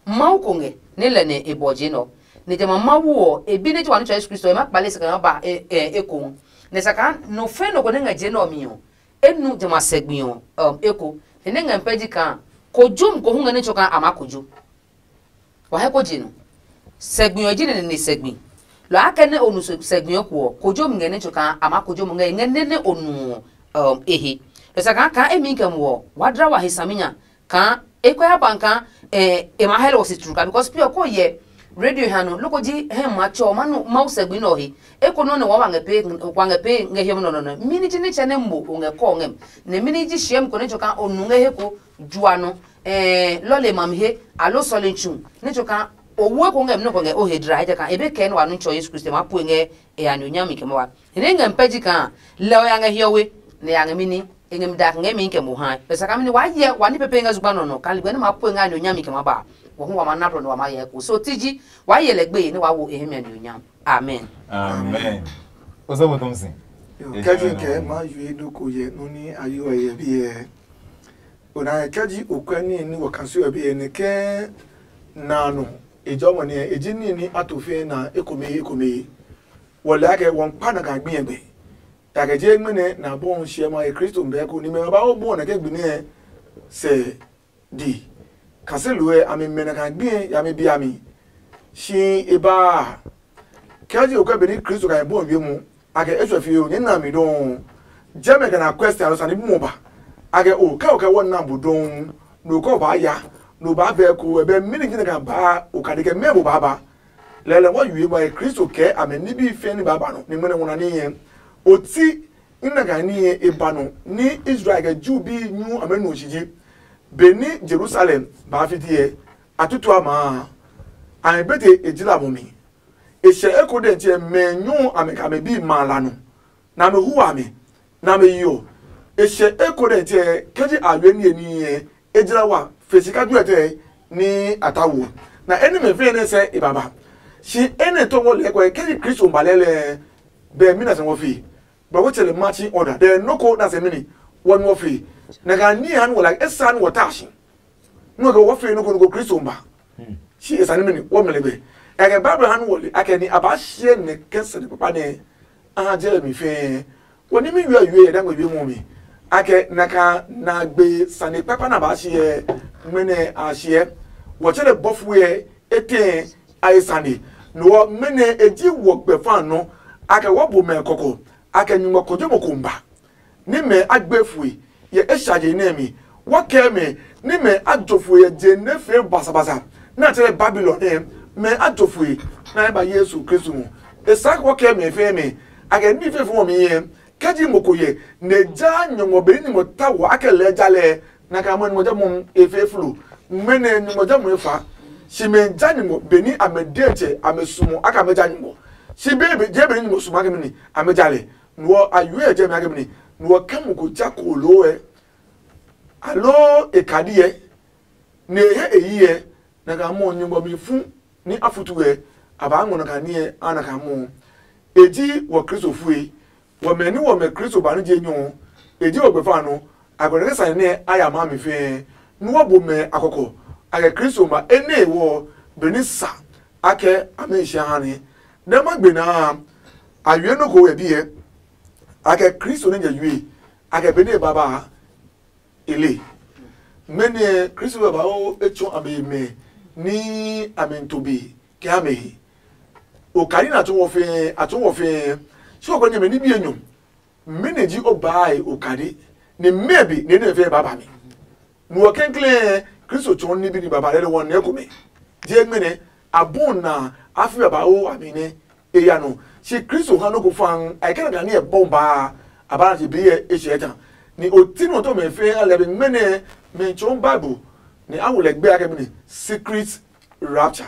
Mawu ko ngɛ, nɛ lɛ nɛ e bɔ je nɔ. Nɛ jamɛ Mawu ɔ, e bi nɛ ji wa nitsɔ Yesu Kristo, e ma kpale e sɛ kɛ ma ba e e ekohu. Nɛ sa kaa nɔ fɛn nɔ ko nɛ ngɛ je nɛ ɔ mi ɔ, e nu jamɛ a sɛgbi ɔ um, eko. Nɛ nɛ ngɛ pɛ ji kaa, kojo mi ko hu ngɛ nɛ tsɔ kaa a ma kojo. Wa hɛ ko je no. Sɛgbi ɔ ji nɛ ne sɛgbi. Lɔ a kɛ nɛ o nu sɛgbi ɔ ko ɔ, kojo mi ngɛ nɛ tsɔ kaa a ma kojo mo ngɛ ngɛ nɛ nɛ o nu ɔ um, ehe. Lɔ sa kaa kaa emi kɛ mo ɔ, wa dla wa he saminya kaa e kɔ ya ban kaa eh, e ma hɛlɛ wɔ si turu ka because pi ɔ ko yɛ radio ha no loko ji hɛ ma tsɔ ma nu Mawu sɛgbi nɔ he. E ko nɔ ne wa wa ngɛ pe wa ngɛ pe ngɛ hiɛ nɔ nɔ nɔ. Mini ji ne tsɛ ne mo o ngɛ kɔ ngɛ. Ne mini ji shiɛm ko ne tsɔ kaa o nu ngɛ he ko jua nɔ. Eh, lɔle mam he alo sɔle tsu ne tsɔ kaa o wo ko ngɛ mi nɔ ko ngɛ o he dra he ka e be kɛ ne wa nu tsɔ Yesu Kristo ma pue ngɛ e ya nyo nyami kɛ ma wa. Ne ngɛ pɛ ji kaa lɛ o ya ngɛ hiɔwe ne ya ngɛ mini e ngɛ mi dak ngɛ mi kɛ mo ha. Pɛ sa ka mini wa yɛ wa ni pepe ngɛ zugba nɔ nɔ ka ligbe ne ma pue ngɛ a nyo nyami kɛ ma ba. Wɔ hu wa ma na blɔ ne wa ma yɛ ko so ti ji wa yɛ lɛ gbe ne wa wo e hemi a nyo nyam. Amen. Amen. Osɔfo Thompson. Kɛji kɛ ma yue nɔ ko yɛ nɔ ni a yi wɛ yɛ biɛ. Ona kɛji okwɛ ni ni wɔ kasi wɛ biɛ ne kɛ na no ejɔ mo ne eji ni ni ato fe na ekome ekome. Wɔ lɛ akɛ wɔn kpa na ka gbi yɛ gbe. Ta kɛ je gbe ne na bɔ shiɛ ma e Kristo mbɛ ko ni mɛ ba o bɔ na kɛ gbi ne sɛ di. Kaselu ɛ a mi mɛ na ka gbi ya mi bi a mi. Shi e ba kɛ ji o kɛ be ni Kristo ka bɔ wie mu a kɛ e sɔ fi o ni na mi dɔn. Jɛ mɛ kɛ na question alo sani bi mo ba. A kɛ o kɛ o kɛ wɔ na bu dɔn. No kɔ ba ya. No ba bɛ ko e bɛ mini kine ka ba o ka de kɛ mɛ bo ba ba. Lɛlɛ wɔ yue ba Kristo kɛ amɛ nibi fɛ ni ba ba no ni mɛnɛ wona ni yɛ. Oti ina ka ni yɛ e ba no ni Israel kɛ Jew bi nyu amɛ no shi ji. Beni Jerusalem ba fiti ɛ, a tutu a maa a, a bete e jila mo mi. E hyɛ eko dɛ tsɛ mɛ nyu a mɛ ka mɛ bi ma la nɔ, na mɛ hu a mɛ, na mɛ yi ɔ. E hyɛ eko dɛ tsɛ kɛ ji a we ni ni ɛ, e jira wa fe sika juɛ tɛ ni a ta wo. Na eni mɛ fe ne sɛ e baba. Shi eni to wo le ko kɛ ji Kristo ba lɛ lɛ, bɛ mi na sɛ wo fi. Ba wo tsɛ le marching order. Dɛ no ko na sɛ mini wo nu wo fi. Na ka ni han wo la e san wo ta shi. Nɔ kɛ wɔ fee nɔ ko nɔ ko Kristo ba. Shi e sane mɛ ni wɔ mɛ lɛ bɛ. Ɛ kɛ Bible han wɔ le akɛ ni a ba hyɛ nɛ kɛ sane papa nɛ a ha jɛ mi fɛɛ. Wɔ ni mi yue yue yɛ dangɔ yue mɔ mi. Akɛ na ka na gbe sane papa na ba hyɛ mɛ nɛ a hyɛ. Wɔ tsɛ lɛ bɔfu yɛ e tɛ a e sane. No wɔ mɛ nɛ e ji wɔ gbɛ fa nɔ. Akɛ wɔ bo mɛ kɔkɔ. Akɛ nyuŋɔ ko je mo ko ba. Ní mɛ a gbe fue yɛ esha je nɛ mi. Wa kɛ mɛ ní mɛ a jo fue yɛ je nɛ fee basabasa nɛ a tsɛrɛ Babilon nɛ mɛ a jo fue nɛ a ba Yesu Kristo mu. E sa wa kɛ mɛ fɛ mɛ a kɛ ní fɛ fɔ mi yɛ kɛ ji mo ko yɛ nɛ ja nyɔngɔ be ní mo ta wa a kɛ lɛ ja lɛ na ka mo mo ja mo e fɛ flo. Mɛ nɛ nyɔngɔ ja mo e fa. Shi mɛ ja nyɔngɔ be ní a mɛ de tsɛ a mɛ sumo a ka mɛ ja nyɔngɔ. Shi be be je be ní mo sumo a kɛ mɛ ni a mɛ ja lɛ. Nuɔ a yue jɛ mi a kɛ mɛ ni. Nuɔ kɛ mo ko ja ko loo ɛ aloo e kadi ɛ ne e he e yi ɛ na ka mɔ nyugbɔ mi fu ni a futu ɛ a ba ngɔ na ka ni ɛ a na ka mɔ. E ji wɔ Kristo fue. Wɔmɛ ni wɔmɛ Kristo ba ni je nyɔ e ji wɔ gbefa nɔ. A gbɛdɛ kɛ sane nɛ a ya maa mi fɛɛ. Nuɔ bo mɛ a kɔkɔ a kɛ Kristo ma e nɛ e wɔ be ni sa a kɛ a mɛ e sia ha ni. Nɛ ma gbe naa a yue nɔ ko ɛ biɛ. A kɛ Kristo nɛ nyɛ yue a kɛ be nɛ e baba a e le. Mɛni Kristo babauu e tsɔ a be mɛ ní a mi to be kɛ a mɛ he. Okadi na tso wɔ fɛɛ a tso wɔ fɛɛ. So ko nyɛ mɛ ní bi enyɔ. Mɛni ji o baa e okadi ni mɛ bi ne ne fɛɛ baba mi. Nuɔ kɛnklɛɛ Kristo tsɔɔ ní bi ni baba lɛ wɔ nɛ komɛ. Je ngmɛnɛ a bu na a fi babauu a mi nɛ e ya nɔ. Si Kristo ha nɔ ko fan a kɛ na ni ɛ bɔn baa a ba na bi ɛ e hyɛ ta. Ni o ti nɔ to mɛ fe a lɛ bi ngmɛnɛ mɛ tsɔɔ Bible ni a wo lɛ gbɛ a kɛ mi ni secret rapture.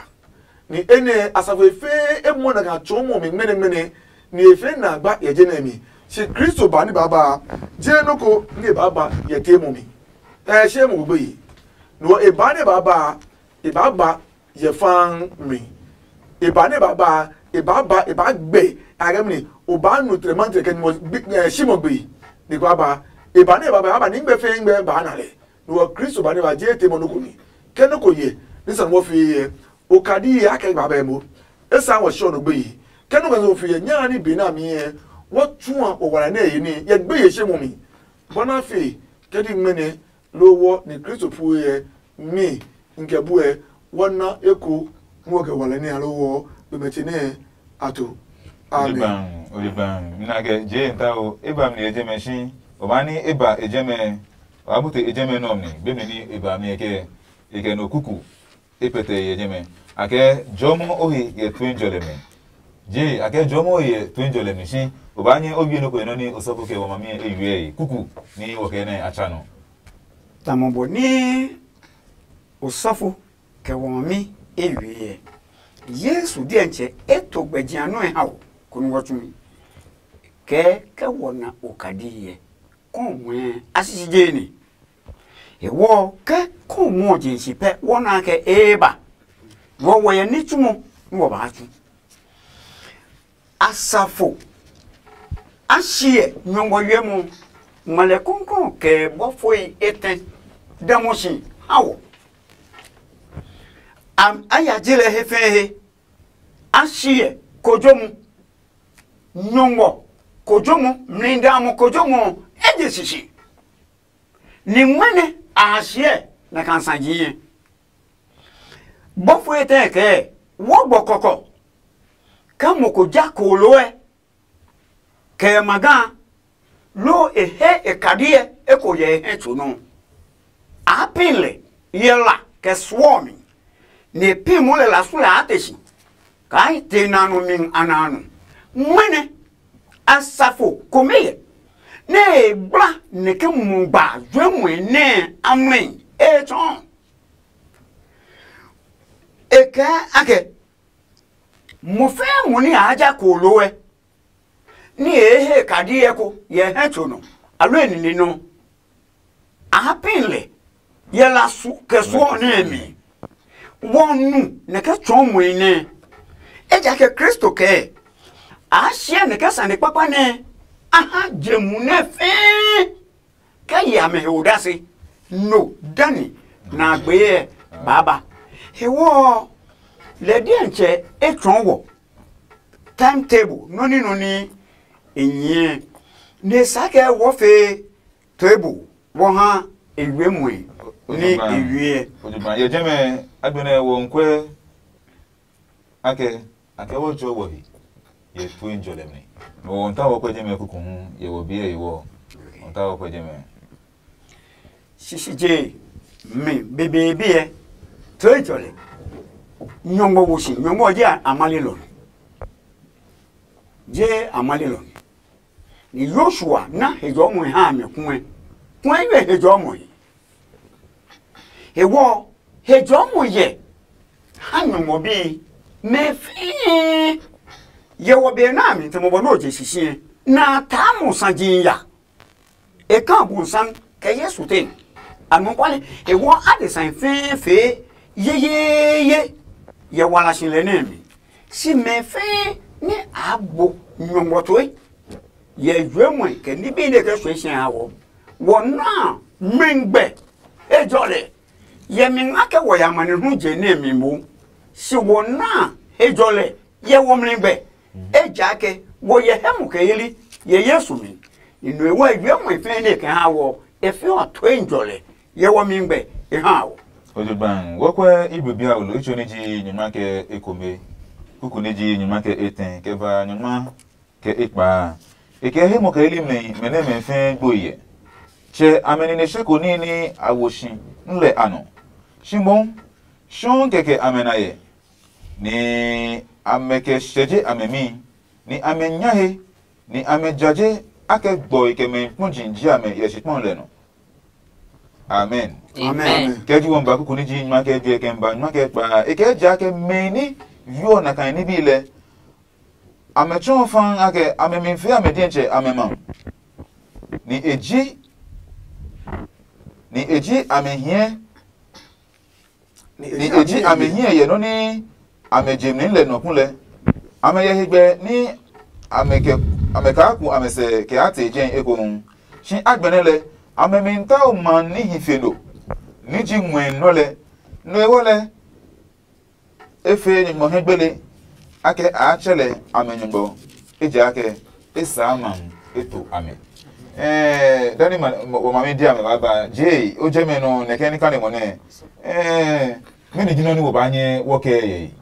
Ni enɛ asafo e fɛɛ e muɔ na ka tsɔɔ mɔ mi ngmɛnɛ ngmɛnɛ ni e fɛɛ na gba yɛ je nɛ mi. Si Kristo ba ni baba je nɔ ko ni e baba yɛ te mɔ mi. Ɛ she mo gbogbo yi. No e ba ne ba ba e ba ba yɛ faan mi. E ba ne ba ba e ba ba e ba gbe a ga mi o ba nu tre man tre ke mo gbi eh, shi mo gbi ni ko ba e ba ne ba ba ba ni gbe fe gbe ba na le. No Kristo ba ne ba je te mo no ko ni ke no ko ye ni san wo fi ye o ka di ye ake ba ba mo. E sa wo sho no gbe yi ke no ko so fi ye nya ni be na mi ye wo tsuan o wala ne ye ni ye gbe ye she mo mi. Bɔna fe ke di ngmene lo wɔ ni Kristo pu yɛ mi nkɛ buɛ wɔ na eko muɔ kɛ wale ne alo wɔ be mɛ tsi ne ato. Amen. Oliban, oliban. Mina ke je nta o, e ba mi ye je mɛ shi. O ma ni e ba e je mɛ, o ma bute e je mɛ nɔ mi, be mi ni e ba mi ke e kɛ no kuku e pɛtɛ ye je mɛ. A kɛ jɔmɔ o he ye tuen jɔlɛ mɛ. Je, a kɛ jɔmɔ o he ye tuen jɔlɛ mɛ shi. O ba nyɛ o wie no ko nɔ ni o sɔfo ke wa ma mi e yue kuku ni wɔ kɛ nɛ a tsa nɔ. Tamɔ bɔ ní osɔfo kɛ wɔmi eywiɛ. Yesu diɛntsɛ e to gbɛjia nɔ́ ɛ ha wɔ konú wɔ tsumi. Kɛɛ kɛ wɔ na okadi hyɛ, kɔɔ muɛ a sisi jee ne. Hewɔ kɛ kɔɔ muɔ je si pɛ wɔ na kɛ ee ba. Wɔ wɔ yɛ ní tsumɔ nú wɔ baa tsu. Asafo a shiɛ nyɔngmɔ wiɛ mɔ, ngmalɛ kɔnkɔn kɛ bɔfoi etɛ da mɔ si ha wɔ. A ya je lɛ he fɛɛ he. A shiɛ kojomu, nyɔngmɔ kojomu, mlidamɔ kojomu eje sisi. Ni ŋmɛnɛ a ha shiɛ na ka sa jiɛ. Bɔfo etɛ kɛɛ, wɔ gbɔ kɔkɔ. Kɛ mo ko ja kooloo ɛ, kɛ e ma ga, loo e he e kadiɛ eko yɛ e hɛ tso nɔ. A pin lɛ yɛ la kɛ suɔ mi, nɛ e pin mo lɛ la su lɛ a te si, kaa e te na nɔ mi a na nɔ. Ŋmɛnɛ asafo komɛ yɛ, nɛ e gbla nɛ ke mu gba juɛmɛ nɛ a mlɛ e tsɔɔ. E kɛɛ akɛ, Mo fɛɛ mo ní a ja kooloo ɛ, ní e he kadi ɛ ko yɛ hɛ tso nɔ, alɔ e nine nɔ. A ha pin lɛ yɛ la su kɛ suɔ nɛ mi. Wɔ nu nɛ kɛ tsɔɔ mɔe nɛ. Ejakaa Kristo kɛɛ, a siɛ nɛ kɛ sane kpakpa nɛ a ha je mu nɛ fɛɛ kɛ yi amɛ he odase. No dani na a gbee ɛ baaba. Hewɔ ɔ, lɛ diɛntsɛ e tsɔɔ wɔ time table nɔ́ ní nɔ ní e nyɛɛ, nɛ e saa kɛ wɔ fee table wɔ ha e yue muɛ ní e yue. Ojogba yɛ jɛmɛ agbenɛ wɔ nkwɛ akɛ akɛ wɔ tsɔ wɔ he yɛ tue njɔ lɛ mɛ. Wɔ nta wɔ kwɛ jɛmɛ kuku hu yɛ wɔ biɛ yi wɔ. Wɔ nta wɔ kwɛ jɛmɛ. Sisi je mi bebeebi ɛ, to ejɔlɛ. Nyɔngmɔ wo si, nyɔngmɔ je amale lɔ nɔ. Je amale lɔ nɔ. Ni Yoshua na hejɔɔmɔ ha mɛ kuɛ. Kuɛ yɛ hejɔɔmɔ he. Hewɔ hejɔɔmɔ yɛ ha nyɔngmɔ bi mɛ fɛɛ. Yɛ wɔ be na mi tɛmɛ bɔ no je sisi na ta mo saji ya. E ka bu san kɛ Yesu te. Anɔkuale, e wɔ adesã fɛɛ fɛɛ yeyeye yɛ wala si lɛ nɛ mi. Si mɛ fɛɛ nɛ a bo nyɔngmɔ toe yɛ juɛmɔe kɛ nibi nɛ kɛ suɛ si a wɔ. Wɔ na mɛngbɛ ejɔlɛ. Yɛ mi nga kɛ wɔ ya mane hu je nɛ mi mo. Si wɔ na ejɔlɛ yɛ wɔ mli gbɛ. Ejaakɛ wɔ yɛ hɛ mu kɛ yeli yɛ Yesu mi. Ni nue wɔ yue mɔe fɛɛ nɛ kɛ ha wɔ e fɛ ɔ toe njɔlɛ yɛ wɔ mi gbɛ e ha wɔ. Ojogban wɔkwɛ Hebrew bi a olo itso ni ji nyuma kɛ ekome, kuku ni ji nyuma kɛ etɛ kɛ ba nyuma kɛ ekpa. E kɛ he mɔ kɛ yeli mɛ mɛ nɛ mɛ fɛɛ gbo yɛ. Tsɛ amɛ nine seko ní ní a wo si nlɛ a nɔ. Shi moŋ shɔɔ kɛkɛ amɛ na yɛ, ni amɛ kɛ sɛje amɛ mi, ni amɛ nya he, ni amɛ jaje akɛ gbɔe kɛ mɛ kpɔji ji amɛ yɛ shikpɔn lɛ nɔ. Amen. Amen. Kɛ ji wɔn ba kuku ni ji nyuma kɛ je kɛ ba nyuma kɛ kpa e kɛ ja kɛ mɛ ni yo na kan ni bi lɛ. Amɛ tsɔ fa akɛ amɛ mi fe amɛ diɛtsɛ amɛ ma. Ni e ji ni e ji amɛ hiɛ ni e ji amɛ hiɛ yɛ nɔ́ nɛ amɛ je mli lɛ nɔ kulɛ. Amɛ yɛ hegbɛ ní amɛ kɛ amɛ kaa ku amɛ sɛ kɛ a tee jɛi ekohu. Shi agbɛnɛ lɛ, amɛ mi tao ma níhi fe no, ní ji ngmɛɛ nɔ lɛ. No ewɔ lɛ, e fee nyɔngmɔ hɛ gbele akɛ a tsɛ lɛ amɛ nyɔngmɔ, ejaakɛ e saa ma e to amɛ. Ɛɛ dani ma wɔ mami di amɛ ba ba je o jɛ mɛ nɔ nɛkɛ ní kane mɔ nɛ. Ɛɛ mɛni ji nɔ ni wɔ ba nyɛ wɔ kɛ yɛ yi?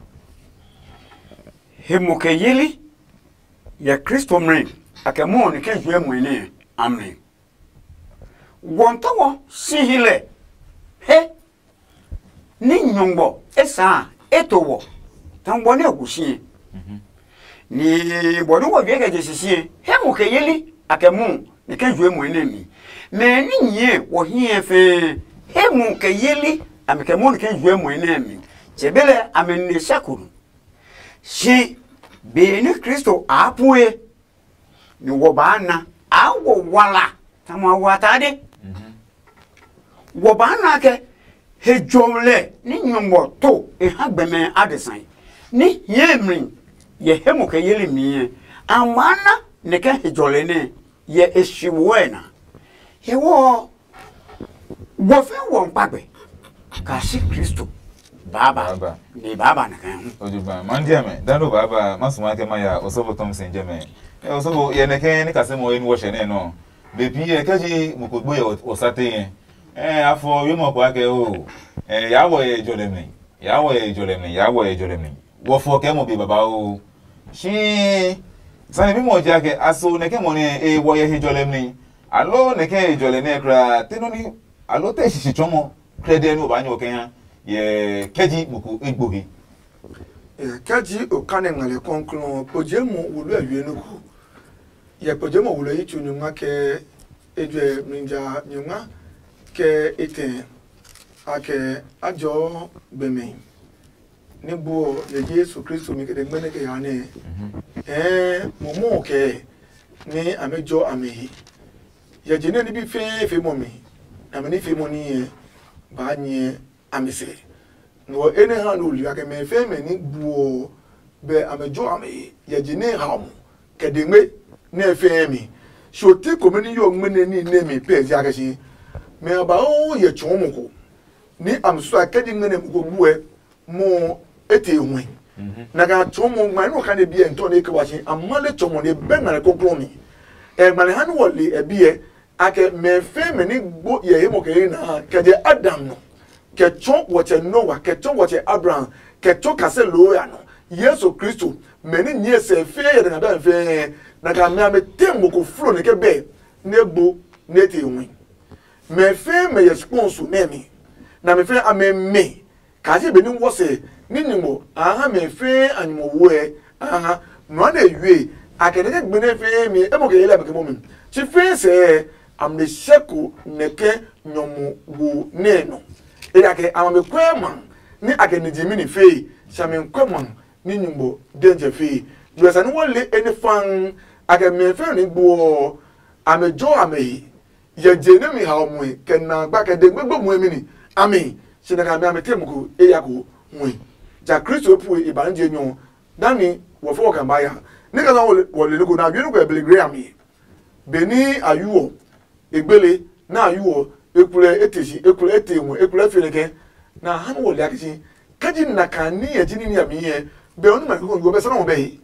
He mo kɛ yeli yɛ Kristo mrɛ a kɛ mɔ ni kɛ juɛ mɔe nɛ a mrɛ. Wɔntɔ wɔ si hi lɛ he ní nyɔngbɔ e saa e to wɔ tɔngbɔ nɛ gu sie. Ni bɔ nɛ wɔ wie kɛ je sisi he mu kɛ yeli a kɛ mu ni kɛ jue mu nɛ mi. Mɛ ní nyie wɔ hiɛ fɛɛ he mu kɛ yeli a mi kɛ mu ni kɛ jue mu nɛ mi. Tsɛ be lɛ a mi ne sɛ kuru. Si be ní Kristo a pue ni wɔ baa na a wɔ wala tamɔ a wɔ atade. Wɔ baa na kɛ he jɔlɛ ní nyɔngmɔ to e ha gbɛmɛ adesã ní hiɛ mli yɛ he mo kɛ yeli miɛ a maa na nɛ kɛ he jɔlɛ nɛ yɛ e shi woɔ ɛ na. Hewɔ wɔ fɛ wɔ nkpa gbɛ ka si Kristo baaba. Baaba. Ni baaba na kan hu. Ojugba man dia me dando baaba masuma ke maya osobo Thompson jeme. E osobo ye ne ke ni kase mo in wo shene no. Be pi ye ke ji mu ko gbo ye osate ye. Eh afo yo mo kwa ke o. Eh ya wo ye jole mi. Ya wo ye jole mi. Ya wo ye jole mi. Wo fo ke mo bi baba o. Shi sane bi mo ja ke aso ne ke mo ne e wo ye he jole mi. Alo ne ke e jole ne kra te no ni alo te shishi chomo. Krɛdɛ nɛ o ba nyɛ o kɛ ha yɛ kɛji mo ko egbo he. Kɛji o kane ngmɛlɛ kɔnklɔn kpojee mo wulu ɛ wie nɔ ko. Yɛ kpojee mo wulu ɛ yi tsu nyungma kɛ ejwɛ mlija nyungma kɛ etɛ a kɛ a jɔɔ gbɛmɛ. Ni gbuɔ yɛ Yesu Kristo mi kɛ dɛ gbɛnɛ kɛ ya nɛ. Ɛɛ, momo kɛ ni amɛ jɔ amɛ he. Yɛ je nɛ ni bi fɛɛ fe mɔ mi, na mɛ ni fe mɔ ni yɛ ba nyɛ amɛ sɛ. Nɔ ene ha no li akɛ mɛ fɛɛ mɛ ni gbuɔ bɛ amɛ jɔ amɛ he. Yɛ je nɛ ha mo kɛ de ngbe nɛ fɛɛ mi. So ti komɛ ni yɔ ngmɛnɛ ni nɛ mi pɛ zia kɛ si. Mɛ a ba o yɛ tsɔɔ mo ko. Ni amɛ susuɛ kɛ ji ngmɛnɛ mo ko gbuɛ mo ete hu. Na ka tsɔɔ mo ngma nɔ ka ne biɛ ntɔ ne ke wa si amale tsɔɔ mo ne bɛ ngmale koklo mi. E ngmale ha ni wɔ le e biɛ akɛ mɛ fɛɛ mɛ ni gbo yɛ he mo kɛ na kɛ je Adam nɔ, kɛ tsɔ wɔtsɛ Noah, kɛ tsɔ wɔtsɛ Abraham, kɛ tsɔ kase loo ya nɔ. Yesu Kristo mɛ ni nyɛ sɛ fɛɛ yɛ na bɛ fɛɛ na ka mɛ amɛ te mo ko flo ne ke bɛ ne gbo ne te hu. Mɛ fɛɛ mɛ yɛ sponsor nɛ mi. Na mɛ fɛɛ amɛ mɛ. Kaa je be ní wɔsɛ ní nyumu a ha mɛ fɛɛ a nyumu woe a ha nua ne yue a kɛ nɛ gbe nɛ fɛɛ mi e mo ke yele a ke mo mi. Tsi fɛɛ sɛ am ne seko nɛ kɛ nyɔmu wo nɛ nɔ. E ya ke ama me kwɛ ma ni a kɛ ni ji mi ni fee sha me kwɛ ma ni nyumu denje fee. Yɔ sa ni wɔ le ene fan a kɛ mɛ fɛɛ ni gbo a me jo a me yi. Yɛ je nɛ mi hao mue kɛ na gba kɛ de gbogbo mue mi ni. Ami si na ka mi ami te muku e ya ku mue. Ja Kristo e pue e ba nje nyɔ dani wɔ fɔ kan ba ya. Ni ka na wɔ le ko na yunu ko e bele gre ami. Beni a yu ɔ e gbele na a yu ɔ e kulɛ e te si e kulɛ e te mue e kulɛ e fe ne kɛ na han wɔ le akisi. Kaji na ka ni yɛ ji ni ni ami yɛ bɛ o ni ma ko yo bɛ sana wɔ bɛ he.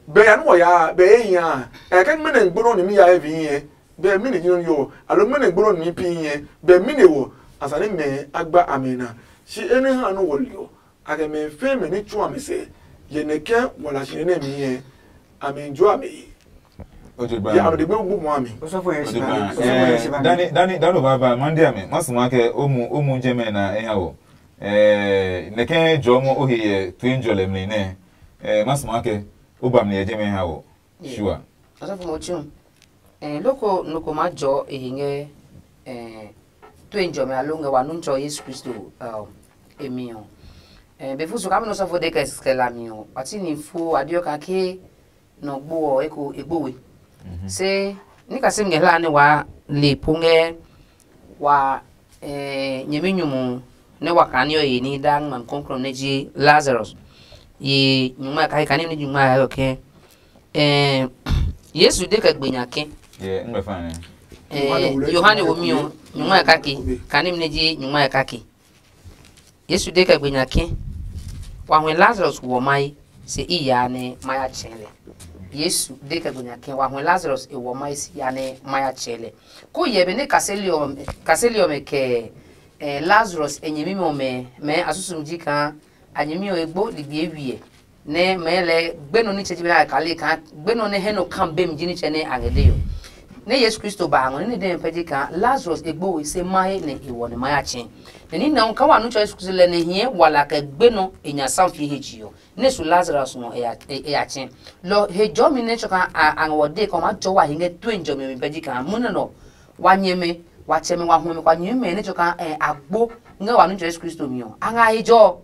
Bɛ ya ni wɔ ya bɛ e ya ɛ kɛ mɛnɛ gbɔnɔ ni mi ya e vi yɛ. Bɛ mi ne nyɔnɔ yɔ alo mɛnɛ gbɔnɔ ni mi pi yɛ bɛ mi ne wɔ a sa ni mɛ a gba a mɛ na. Si e ne ha nɔ wɔ li ɔ a kɛ mɛ fɛɛ mɛ ni tsu a mi sɛ yɛ nɛ kɛ wala si nɛ mi yɛ a mi jo a mi yi. O je ba. Ya a mi de gbe wu mu a mi. Osɔfo yɛ O je siba. ba. Osɔfo yɛ Eh, siba. Dani dani dani o ba ba man dia mi. Mas ma ke o mu o mu je me na e ha wo. Eh, ne ke jo mo o he ye twin jo le mi ne. Eh, mas ma ke o ba mi ye je me ha wo. Sure. Osɔfo mo tsu. Eh, loko noko ma jo e he nge eh, tue njɔmɛ alo ngɛ wa Nuŋtsɔ Yesu Kristo eh, emi ɔ. Eh, be fu so kami nɔ sɔfo de kɛ kɛ la mi ɔ, wa ti ni fu wa diɔ ka ke nɔ gbo ɔ eko egbo we. Se ni ka se ngɛ hla ne wa le po ngɛ wa eh, nyɛmi nyumu ne wa kani ɔ ye ni da ngma kɔnkrɔn ne ji Lazarus. Ye nyuma ka ka ni ni nyuma ya ɔ ke eh, Yesu de kɛ gbe nya ke Ye ngbe fa ne. Eh, Yohane wo mi ɔ nyungma ya kake kane mi ne ji nyungma ya kake. Yesu de kɛ gbe nya ke wa hwɛ Lazarus wɔ mai se i ya ne ma ya tsɛ lɛ. Yesu de kɛ gbe nya ke wa hwɛ Lazarus e wɔ mai se ya ne ma ya tsɛ lɛ. Ko yɛ be ne kaseli ɔ kaseli ɔ mɛ kɛ eh, Lazarus e nyɛmi mɛ ɔ mɛ mɛ asusum ji kaa a nyɛmi ɔ egbo ligbi ewiɛ. Nɛ mɛɛ lɛɛ gbenɔ ní tsɛtsɛ bi na kale kaa gbenɔ nɛ hɛ nɔ kan bemi ji nitsɛ nɛ a ngɛ de ɔ. Nɛ Yesu Kristo ba a ngɔ ní dɛ pɛ ji kaa Lazarus e gbo se mahe nɛ e wɔ nɛ ma ya tsɛ. Nɛ ní nɛ kaa wa nu tsɔ Yesu Kristo lɛ nɛ hiɛ wala kɛ gbenɔ e nya sam fie he tsi ɔ. Nɛ su Lazarus ngɔ e ya e ya tsɛ. Lɔ he jɔmi nɛ tsɔ kaa a ngɔ de kɔ ma jɔ wa hi ngɛ tue jɔmi mi pɛ ji kaa munɛ nɔ wa nyɛmɛ wa tsɛmɛ wa huɛmɛ kwa nyɛmɛ nɛ tsɔ kaa a gbo ngɛ wa nu tsɔ Yesu Kristo mi ɔ a nga he jɔ.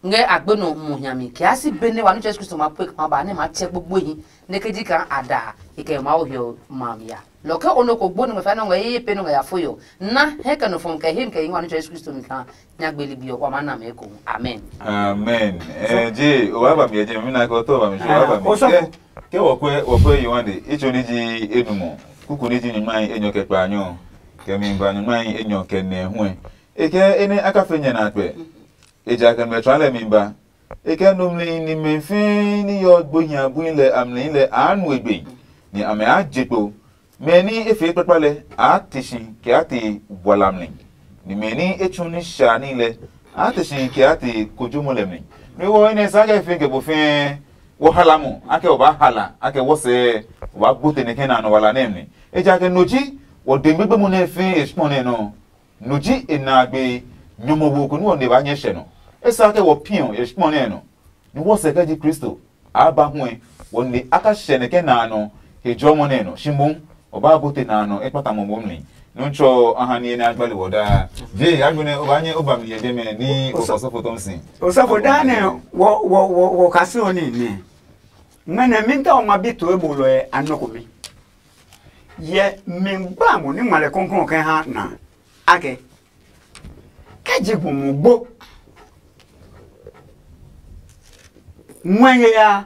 Ngɛ agbe nɔ mo hiami kɛ a si be nɛ wa nu Yesu Kristo ma pue kama ba nɛ ma tsɛ gbogboehi nɛ ke ji kaa a da e kɛ Mawu hiɔ ma mi ya. Lɔ ke o nɔ ko gbo nɛ ngmɛ fa nɔ ngɛ ye ye pe nɔ ngɛ ya fo yo na hɛ kɛ nɔ fɔm kɛ hem kɛ yi wa nu Yesu Kristo mi kaa nya gbe ligbi ɔ wa ma na mɛ ko. Amen. Amen. Eh, je o wa ba mi je mi na ko to ba mi je wa ba mi. Osɔfo. Ke ke wo kwe wo kwe yi wande icho ni ji enumɔ kuku ni ji nyuma enyɔ kɛ kpa nyɔ kɛ mi ba nyuma enyɔ kɛ nɛ huɛ. Eke ene aka fe nyɛ na kpɛ. Ejakaa mɛ tsua lɛ mi ba. E kɛ numli nimɛ fɛɛ ni yɔ gbo hia bui lɛ a mli lɛ a nu e gbe, nɛ amɛ a je kpo. Mɛ ni e fee kpakpa lɛ a te si kɛ a te bua lamli, ni mɛ ni e tsu ní sha ní lɛ a te si kɛ a te kojomɔ lɛ mli. Nɛ wɔ enɛ sa kɛ fɛɛ kɛ bo fɛɛ wɔ hala mo akɛ wɔ ba hala akɛ wɔ sɛɛ wɔ ba gbo tɛnɛ kɛ na nɔ wala nɛ mli. Ejakaa no ji wɔ de gbegbe mo nɛ fɛɛ e kpɔ nɛ nɔ. No ji e na a gbe nyɔmɔ wo ko nɛ wɔ ne ba nyɛ hyɛ nɔ. E sa ke wɔ piɔ e kpɔ nɛ nɔ. Ni wɔ sɛ kɛ ji Kristo a ba huɛ wɔ ne a ka hyɛ nɛ kɛ na a nɔ he jɔmɔ nɛ nɔ shi moŋ wɔ ba bote na a nɔ e kpata mɔ momi. Nɔ́ tsɔ a ha niye nɛ a gbali wɔ daa. Je, a gbenɛ o ba nyɛ o ba mi yɛ jɛmɛ ní o kɔsɔfo tɔn si. Osɔfo daa nɛ wɔ wɔ wɔ wɔ kasi ɔ ni nɛ. Ŋmɛnɛ mi ta o ma bi to e bo lɔ ɛ a nɔ ko mi. Yɛ mi gba mo ní ŋmalɛ kɔnkɔn kɛ ha na. Akɛ kɛ ji gbo mo gbo. Ŋwɛ ye ya.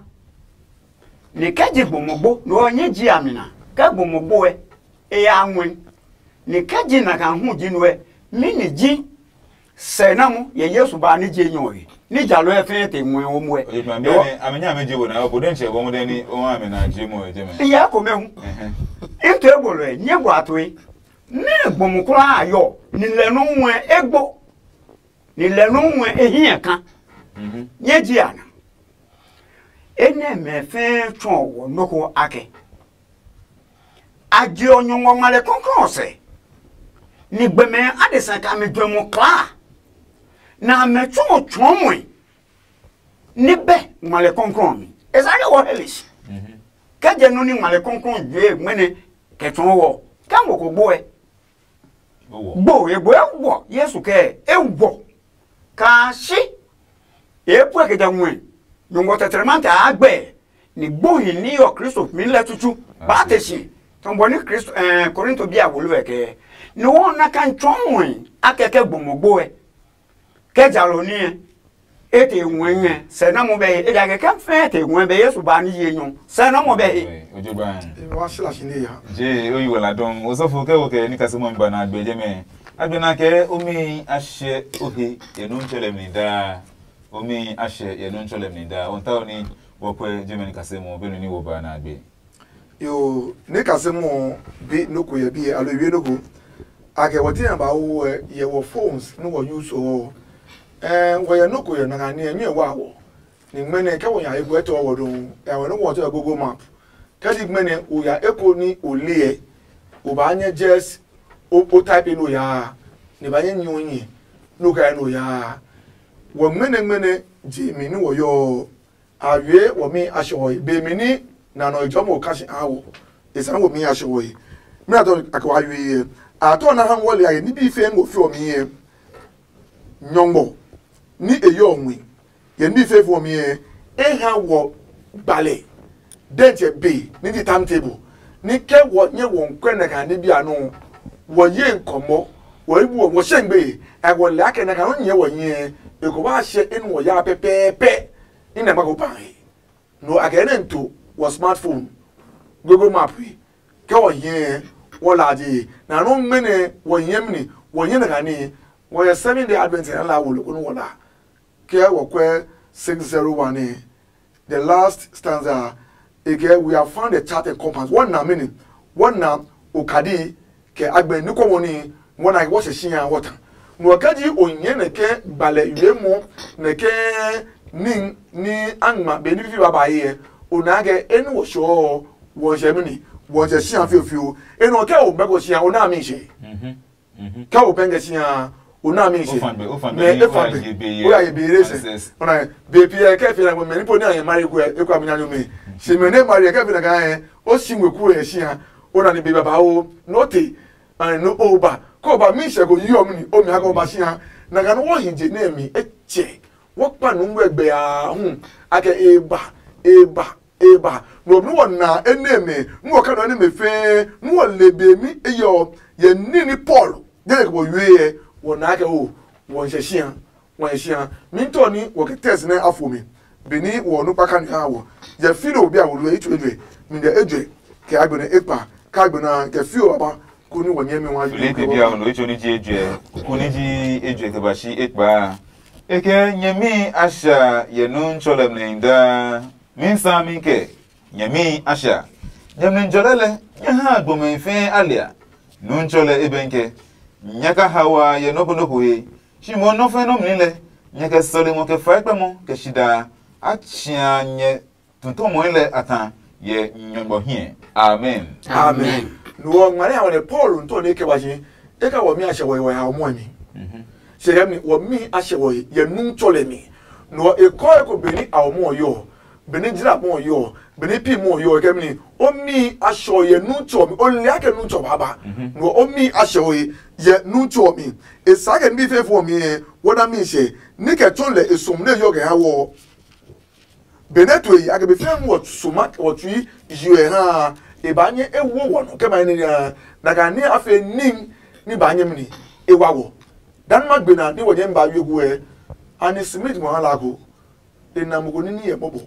Ni kɛ ji gbo mo gbo, no ɔ nyɛ ji a mi na. Kɛ gbo mo gbo ɛ, e ya ŋwɛ. Ni kɛ ji na ka hu ji no ɛ, mi ni ji sɛ na mu yɛ Yesu ba ni je nyɔ he. Ni jalo ɛ fɛɛ te ŋwɛ o mu ɛ. Oye tuma biɛ ni ame nya me je wo na o bo den che bo mu den ni o ha me na je mo je me. Iya ko me hu. Into e bolo ɛ, nye bua to e. Ne gbo mo kura a yɔ, ni lɛ no ŋwɛ e gbo. Ni lɛ no ŋwɛ e hiɛ ka. Nyɛ ji a na. Enɛ mɛ fɛɛ tsɔ wɔ noko akɛ. A je ɔ nyɔngɔ ŋmalɛ kɔnkɔn sɛ. Ni gbɛmɛ adesa ka mi juɛ mo kla. Na mɛ tsɔ tsɔ mɔe. Ni bɛ ŋmalɛ kɔnkɔn mi. Esake wɔ helish. Kɛ jɛ no ni ŋmalɛ kɔnkɔn jue ŋmɛnɛ kɛ tsɔ wɔ. Kɛ mo ko gbo ɛ. Gbo e gbo e wɔ Yesu kɛ e wɔ. Ka shi e puɛ kɛ ja ŋue. Nyɔngɔ tɛtɛrɛmantɛ a gbɛ ni gbohi ni yɔ Kristo mi lɛ tutu. Ba te si tɔn bɔ ni Kristo eh, Korinto bi a wolo ɛ kɛ ni wɔn na kan tsɔɔ ŋue a kɛkɛ gbɔmɔ gbo ɛ. Kɛ jalo niɛ e te ŋue ngɛ sɛ na mo bɛ he e ja kɛkɛ fɛɛ te ŋue bɛ Yesu ba ni ye nyɔ sɛ na mo bɛ he. Ojo ba. Wa sila shi ne ya. Je o yi wala dɔn o sɔfo kɛ wo kɛ ni kasi mo ba na gbe je me. Agbe na kɛ o mi a hyɛ o he e nu ntsɛ lɛ mi daa. O mi a hyɛ e nu ntsɛ lɛ mi daa. O ta o ni wo kwɛ je me ni kasi mo be nu ni wo ba na gbe. Yo, ne kase mo bi noko yɛ bi alo wie noko. Ake wɔ tin ba wo yɛ wɔ phones no wɔ use o. Eh, wɔ yɛ noko yɛ na ni nyɛ wa wɔ. Ni ngmɛnɛ kɛ wɔ nya egu etɔ wɔ do. Ya wɔ no wɔ tɔ Google Map. Kɛ di ngmɛnɛ o ya eko ni o le yɛ. O ba nyɛ just o o type no ya. Ni ba nyɛ nyu nyi. No ka no ya. Wɔ ngmɛnɛ ngmɛnɛ je mi ni wɔ yɔ. A wie wɔ mi a shɔɔe be mi ni na nɔ ejɔ mo ka shi a wo. E sa wo mi a shɔɔe. Mi na tɔ a ko a wie. A tɔ na ha wɔ le a ye ni bi fe mo fi o mi ye. Nyɔngbo ni e yo mi. Ye ni bi fe fo mi ye. E ha wɔ gbale. Den che be ni di time table. Ni ke wɔ nye wɔ nkwe na ka ni bi anu. Wɔ ye nkɔmɔ. Wɔ ibu wɔ shengbe. A wɔ le a ke na ka no nye wɔ nye. E ko ba she in wɔ ya pɛpɛɛpɛ. Ina ma ko pa he. No a kɛ nɛ nto wɔ smartphone, Google Map he. Kɛ wɔ hiɛ wɔ laaje na no mɛnɛ wɔ hiɛ mini wɔ hiɛ na kani. Wɔ yɛ seven day advent na la wo loko no wɔ la. Kɛ wɔ kwɛ six zero one ne, the last stanza, e kɛ we have found the chart and compass. Wɔ na mini, wɔ na okadi kɛ agbɛ ni kɔmɔ ni wɔ na wɔ sɛ shi ya wɔ ta. Nɔ kɛ ji o nyɛ nɛ kɛ gbalɛ yue mɔ nɛ kɛ ni ni angma be ni fi ba ba ye. O na kɛ enu wɔ shɔ wɔ sɛ mini wɔ sɛ shi ya fio fio. Enu kɛ o bɛ ko shi ya o na mi she. Kɛ o bɛ ngɛ shi ya o na mi she. Mɛ e fa be o ya ye be re se. Ona be pi kɛ fi na mɛ ni po ni a ye mari ko e ko mi na no mi. Shi mɛ ne mari kɛ fi na ka o shi ngwe ku e shi ya. Ona ni be baba o no te. Ai no o ba ko ba mi sɛ ko yi ɔ mi ni o mi ha ko ba si ha. Na ka no wo hi je ne mi e che. Wo kpa nu ngwe gbe a hu. A ke e ba e ba e ba. No nu wo na e ne me nu wo ka no ne me fe nu wo le be mi e yo ye ni ni Paul. De ko wo yue wo na ke o wo nse si ha. Wa e sia mi ntɔ ni wɔ kɛ tɛs nɛ a fo mi. Beni wɔ nukpa ka ni ha wɔ yɛ fi lo bi a wɔ lo etso ejwe mi dɛ ejwe kɛ agbe nɛ ekpa ka agbe na kɛ fi o aba ko ni wɔ nyɛ mi wa yi. Filipi bi a wɔ lo etso ni ji ejwe ko ni ji ejwe kɛ ba shi ekpa. Ekɛ nyɛmi a sha yɛ nu ntsɔlɛ mlɛ daa. Mi sami kɛ nyɛmi a sha. Nyɛmli jɔlɛ lɛ nyɛ ha gbɔmɛ fɛɛ a lia. Nu ntsɔlɛ ebɛnkɛ nyɛ ka haoa yɛ nɔ́ ko nɔ́ ko he. Shi mo nɔ́ fɛ́ nɔ́ mli lɛ, nyɛ kɛ sɔlemi ɔ kɛ faikpɛmɔ kɛ shidaa a tsĩa nyɛ tutɔmɔi lɛ a ta yɛ Nyɔngmɔ hiɛ. Amen. Amen. Nuɔ ŋmane a wɔne Paul ntɔ ne kɛ ba shi e ka wɔ mi a sɛ wɔ wɔ ya mɔ mi. Se kɛ mi wɔ mi a sɛ wɔ yɛ nu tsɔ lɛ mi. Nuɔ e kɔ e ko beni a mɔ yɔ, beni jira mɔ yɔ, beni pi mɔ yɔ kɛ mi O mi a shɔ yɛ nu tsɔ mi, o le ake nu tsɔ baba. No o mi a shɔ ye yɛ nu tsɔ mi. E sa ke mi fe fo mi e, wo na mi she. Ni ke tso le e sum ne yo ke ha wo. Bene tu e ake be fe mu wo suma wo tui yo e ha. E ba nye e wo wo no ke ma ni ya. Na ka ni a fe ning ni ba nye mi ni e wa wo. Dan ma gbe na ni wo nye ba yo gu e. Ani Smith mo ha la go. E na mo ko ni ni ye bobo.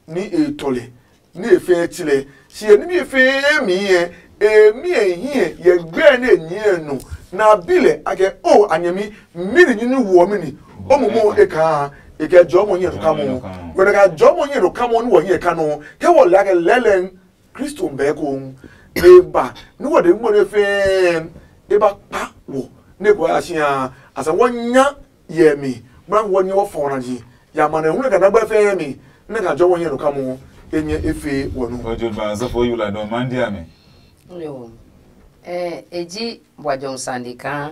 Ni e tɔle, ni e fɛɛ tsilɛ. Si e nimi e fɛɛ mi yɛ, e mi e hiɛ yɛ gbɛɛ ne e nyɛɛ nɔ. Na a bi lɛ a kɛ, o a nyɛmi, mi ni nyumu woɔ mi ni. O momo e kaa, e kɛ jɔɔ mo nyɛ no kamɔ. Wɛrɛ ka jɔɔ mo nyɛ no kamɔ ni wɔ nyɛ ka nɔ. Kɛ wɔ lɛ a kɛ lɛlɛn Kristo bɛɛ ko. E ba ni wɔ de mo ne fɛɛ e ba kpa wɔ ne ko a si a, a sa wɔ nya yɛ mi. Bra wɔ nyɛ wɔ fɔ na ji. Ya ma ne hu ne ka na gba fɛɛ mi. Ne ka jɔ wɔ nyɛ no kamɔ. E nyɛ e fe wɔ nu. Ojo ba so fo yula don man dia me. Yo. Eh, e ji bua jɔm sandi kaa.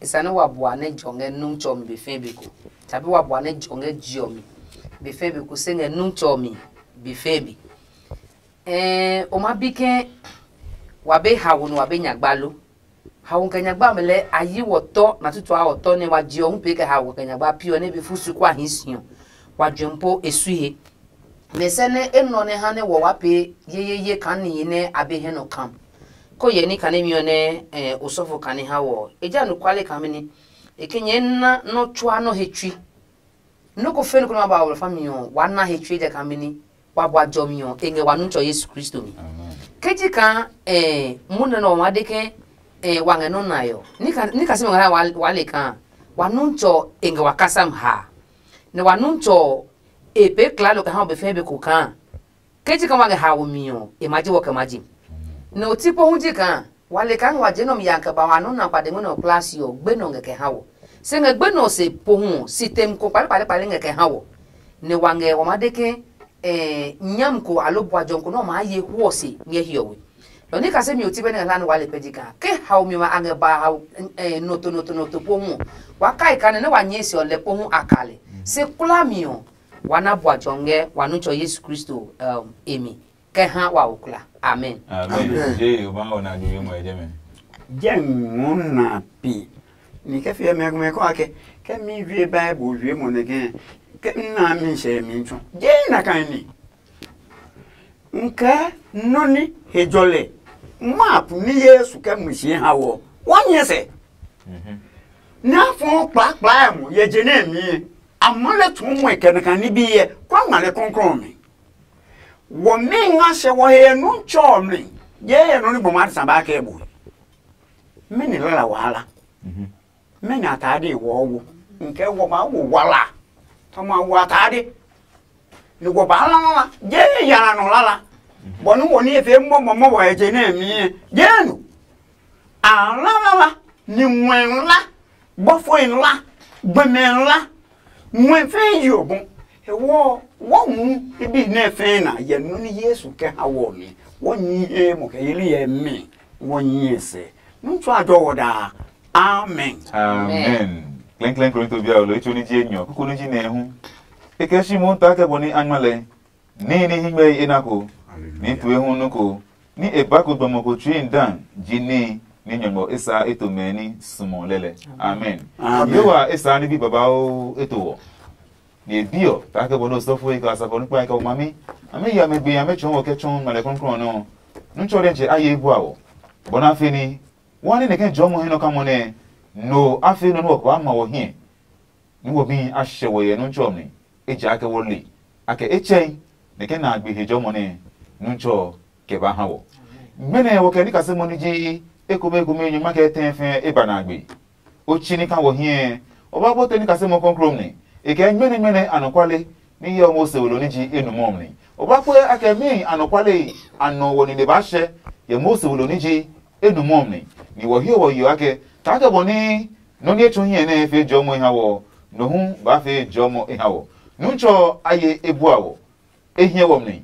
E sa ne wa bua ne jɔ ngɛ nu tsɔ mi be fɛɛ be ko. Tabi wa bua ne jɔ ngɛ jiɔ mi be fɛɛ be ko se ngɛ nu tsɔ mi be fɛɛ be. Eh, o ma bi ke wa be hawo no wa be nyagba lo. Hawo kɛ nyagba mi lɛ a yi wɔ tɔ na tutu a wɔ tɔ ne wa je ɔ hu pe kɛ hawo kɛ nyagba pi ɔ ne be fu su kwa hi si ɔ. Wa jwe po e sui he. Mɛ sɛ ne e nɔ ne ha ne wɔ wa pe ye ye ye kan ni ne a be hɛ nɔ kam. Ko yɛ ni kane mi ɔ ne eh, osɔfo kane ha wɔ. E ja nu kwale kan mi ni. E ke nyɛ na nɔ tsua nɔ he tsui. Nɔ́ ko fɛ̃ nɔ ko nɛ ma ba wɔ fa mi ɔ, wa na he tsue jakaa mɛni? Wa bua jɔmi ɔ, e ngɛ wa Nutsɔ Yesu Kristo mi. Ke ji kaa eh, munɛ nɛ ɔ ma de ke eh, wa ngɛ nɔ́ nae ɔ, ní ka ní ka simɛ ngɛ wa le kaa wa Nutsɔ e ngɛ wa kasam haa, nɛ wa Nutsɔ e pee klalo kɛ ha ɔ be fɛɛ be ko kaa. Ke ji kaa wa ngɛ haomi mi ɔ, e ma ji wɔ kɛ ma ji. Nɛ o ti po hu ji kaa wa le kaa ngɛ wa je nɔmi ya kɛ ba wa nɔ na kpade ngɔ nɛ ɔ kplaa si ɔ, gbe nɔ ngɛ kɛ ha wɔ. Se ngɛ gbe nɔ se po hu ɔ, si tem ko kpale kpale kpale ngɛ kɛ ha wɔ. Nɛ wa ngɛ wa ma de ke eh, nyam ko alo bua jɔn ko nɛ ɔ maa ye huɔ se ngɛ hiɔwe. Nɔ ni kase mi oti bɛ nɛ ngɛ hla nɛ wa le pɛ ji kaa ke haomi ɔmɛ a ngɛ ba hao eh, nɔto nɔto nɔto po hu ɔ, wa kai kane nɛ wa nyɛɛ se ɔ lɛ po hu a ka lɛ. Se kula mi ɔ, wa na bua tsɔ ngɛ wa Nutsɔ Yesu Kristo um, e mi kɛ ha wa okla. Amen. Amen. Je o ba o na ju yemo eje me. Je ngɔ na pi. Ni ke fi me me ko ake ke mi wie Bible wie mo ne ke ke na mi se mi tso. Je na kan ni. Nke noni he jɔlɛ. Map ni Yesu ke mu si ha wo. Wa nyɛ se. Mhm. Na fo kpla kpla mo ye je ne mi. Amale tun mo ke na kan ni bi ye. Kwa ngale konkron mi. Wɔmɛi nga hyɛ wɔ he yɛ Nutsɔ ɔ mli, yee yɛ nɔ nɛ gbɔma adesa baa kɛ e bu he. Mɛni lala wahala? Mɛni atade wɔɔ wo? Nke wɔ maa wo wala. Tɔ ma wo atade. Ni wɔ baa la lala, yee yara nɔ lala. Bɔ ni wɔ ni e fee mɔmɔmɔ wɔ he je nɛ mi yɛ, yee nu. A la lala, ni ŋwɛ la, bɔfoi la, gbɛmɛ la, ŋwɛ fɛɛ yi ɔ bɔ. Hewɔ wɔ hu ibi nɛ fɛɛ na yɛ nɔ ni Yesu kɛ ha wɔ mi. Wɔ nyi he mo kɛ yeli yɛ mi. Wɔ nyi sɛ. Nu tsu a jɔ wɔ daa. Amen. Amen. Klɛnklɛn Korinto bia olo etso ni ji enyɔ kuku ni ji nɛ hu. E kɛ shi mo ta kɛ bɔ ni a ngma lɛ. Níhi ní híngmɛhi e na ko, ní tue hu nu ko, ní e ba ko gbɔmɔ ko tsui dan ji níhi ní nyɔngmɔ e saa eto mɛ ní sumɔ lɛlɛ. Amen. Yehowa e saa ní bi babauu eto wɔ. Ni e bi ɔ, ta kɛ bɔ ní osɔfo e kɛ asafo ní kpa e kɛ o mami, a mɛ ya mɛ gbe ya mɛ tsɔɔ wɔ kɛ tsɔɔ malɛ krɔnkrɔn nɔ. Nú tsɔ dɛ tsɛ a ye bua wɔ. Bɔ na fe ní, wa ní nɛ kɛ jɔmɔ he nɔ kamɔ nɛ, no a fe nɔ ní wɔ kɛ wa ma wɔ hiɛ. Ní wɔmihi a hyɛ wɔ yɛ Nuntsɔ ɔ mli, ejakaa wɔ le a kɛ etsɛe nɛ kɛ na a gbe hejɔmɔ nɛ Nuntsɔ ɔ kɛ ba ha wɔ. Gbenɛ wɔ kɛ ní kasemɔ ní ji ekomɛ ekomɛ nyɔngma kɛ tɛɛ fɛɛ e ba na a gbe. O tsi ní ka wɔ hiɛ ɔ, o ba bɔte ní kasemɔ kɔklɔɔ mli, e kɛ gbenɛ gbenɛ anɔkuale ní hyɛ ɔ Mose we lo ní ji enumɔ ɔ mli. O ba kpɛ a kɛ mɛɛ anɔkuale a nɔ wɔ nine baa hyɛ yɛ Mose we lo ní ji enumɔ ɔ mli, ni wɔ hiɔ wɔ yeɔ akɛ, kaa kɛ bɔ ní nɔ́ nɛ e tsɔ hiɛ nɛ e fee jɔmɔ e ha wɔ ɔ, nɔ hu baa fee jɔmɔ e ha wɔ. Nuntsɔ ɔ a ye e bua wɔ, e hiɛ wɔ mli,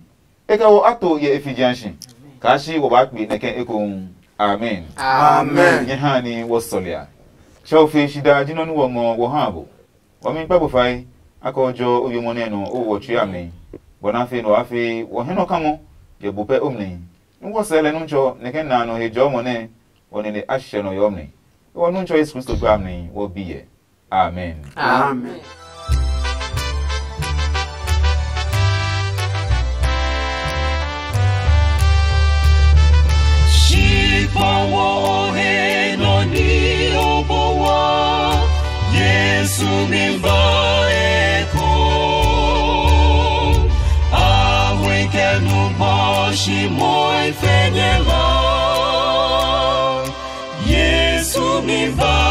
e kɛ wɔ a to yɛ e fijiashi, kaa shi wɔ baa kpe nɛ kɛ ekohu. Amen. Amen. Nyɛ ha ni wɔ sɔlia. Tsɛ o fe shi daa ji nɔ́ nɛ wɔ ngɔ wɔ ha bo. Wɔ mi kpa bo fai, a kɛ o jɔ o yo mo nɛ nɔ o wɔ tsui a mli, bɔ na fe nɔ a fe wɔ hɛ nɔ kamɔ, e bu pɛ o mli. Nú wɔ sɛɛ lɛ Nuntsɔ nɛ ke na a nɔ he jɔɔmɔ nɛ wɔ nine a hyɛ nɔ yɔɔ mli. Ewɔ Nuntsɔ Yesu Kristo gba a mli wɔ bi yɛ. Amen. Amen. Shi kpɔ wo o he nɔ ni o po wa, Yesu mi ba e ko. A hui kɛ nu bɔ shi moi fɛ nyɛ la. Yesu mi ba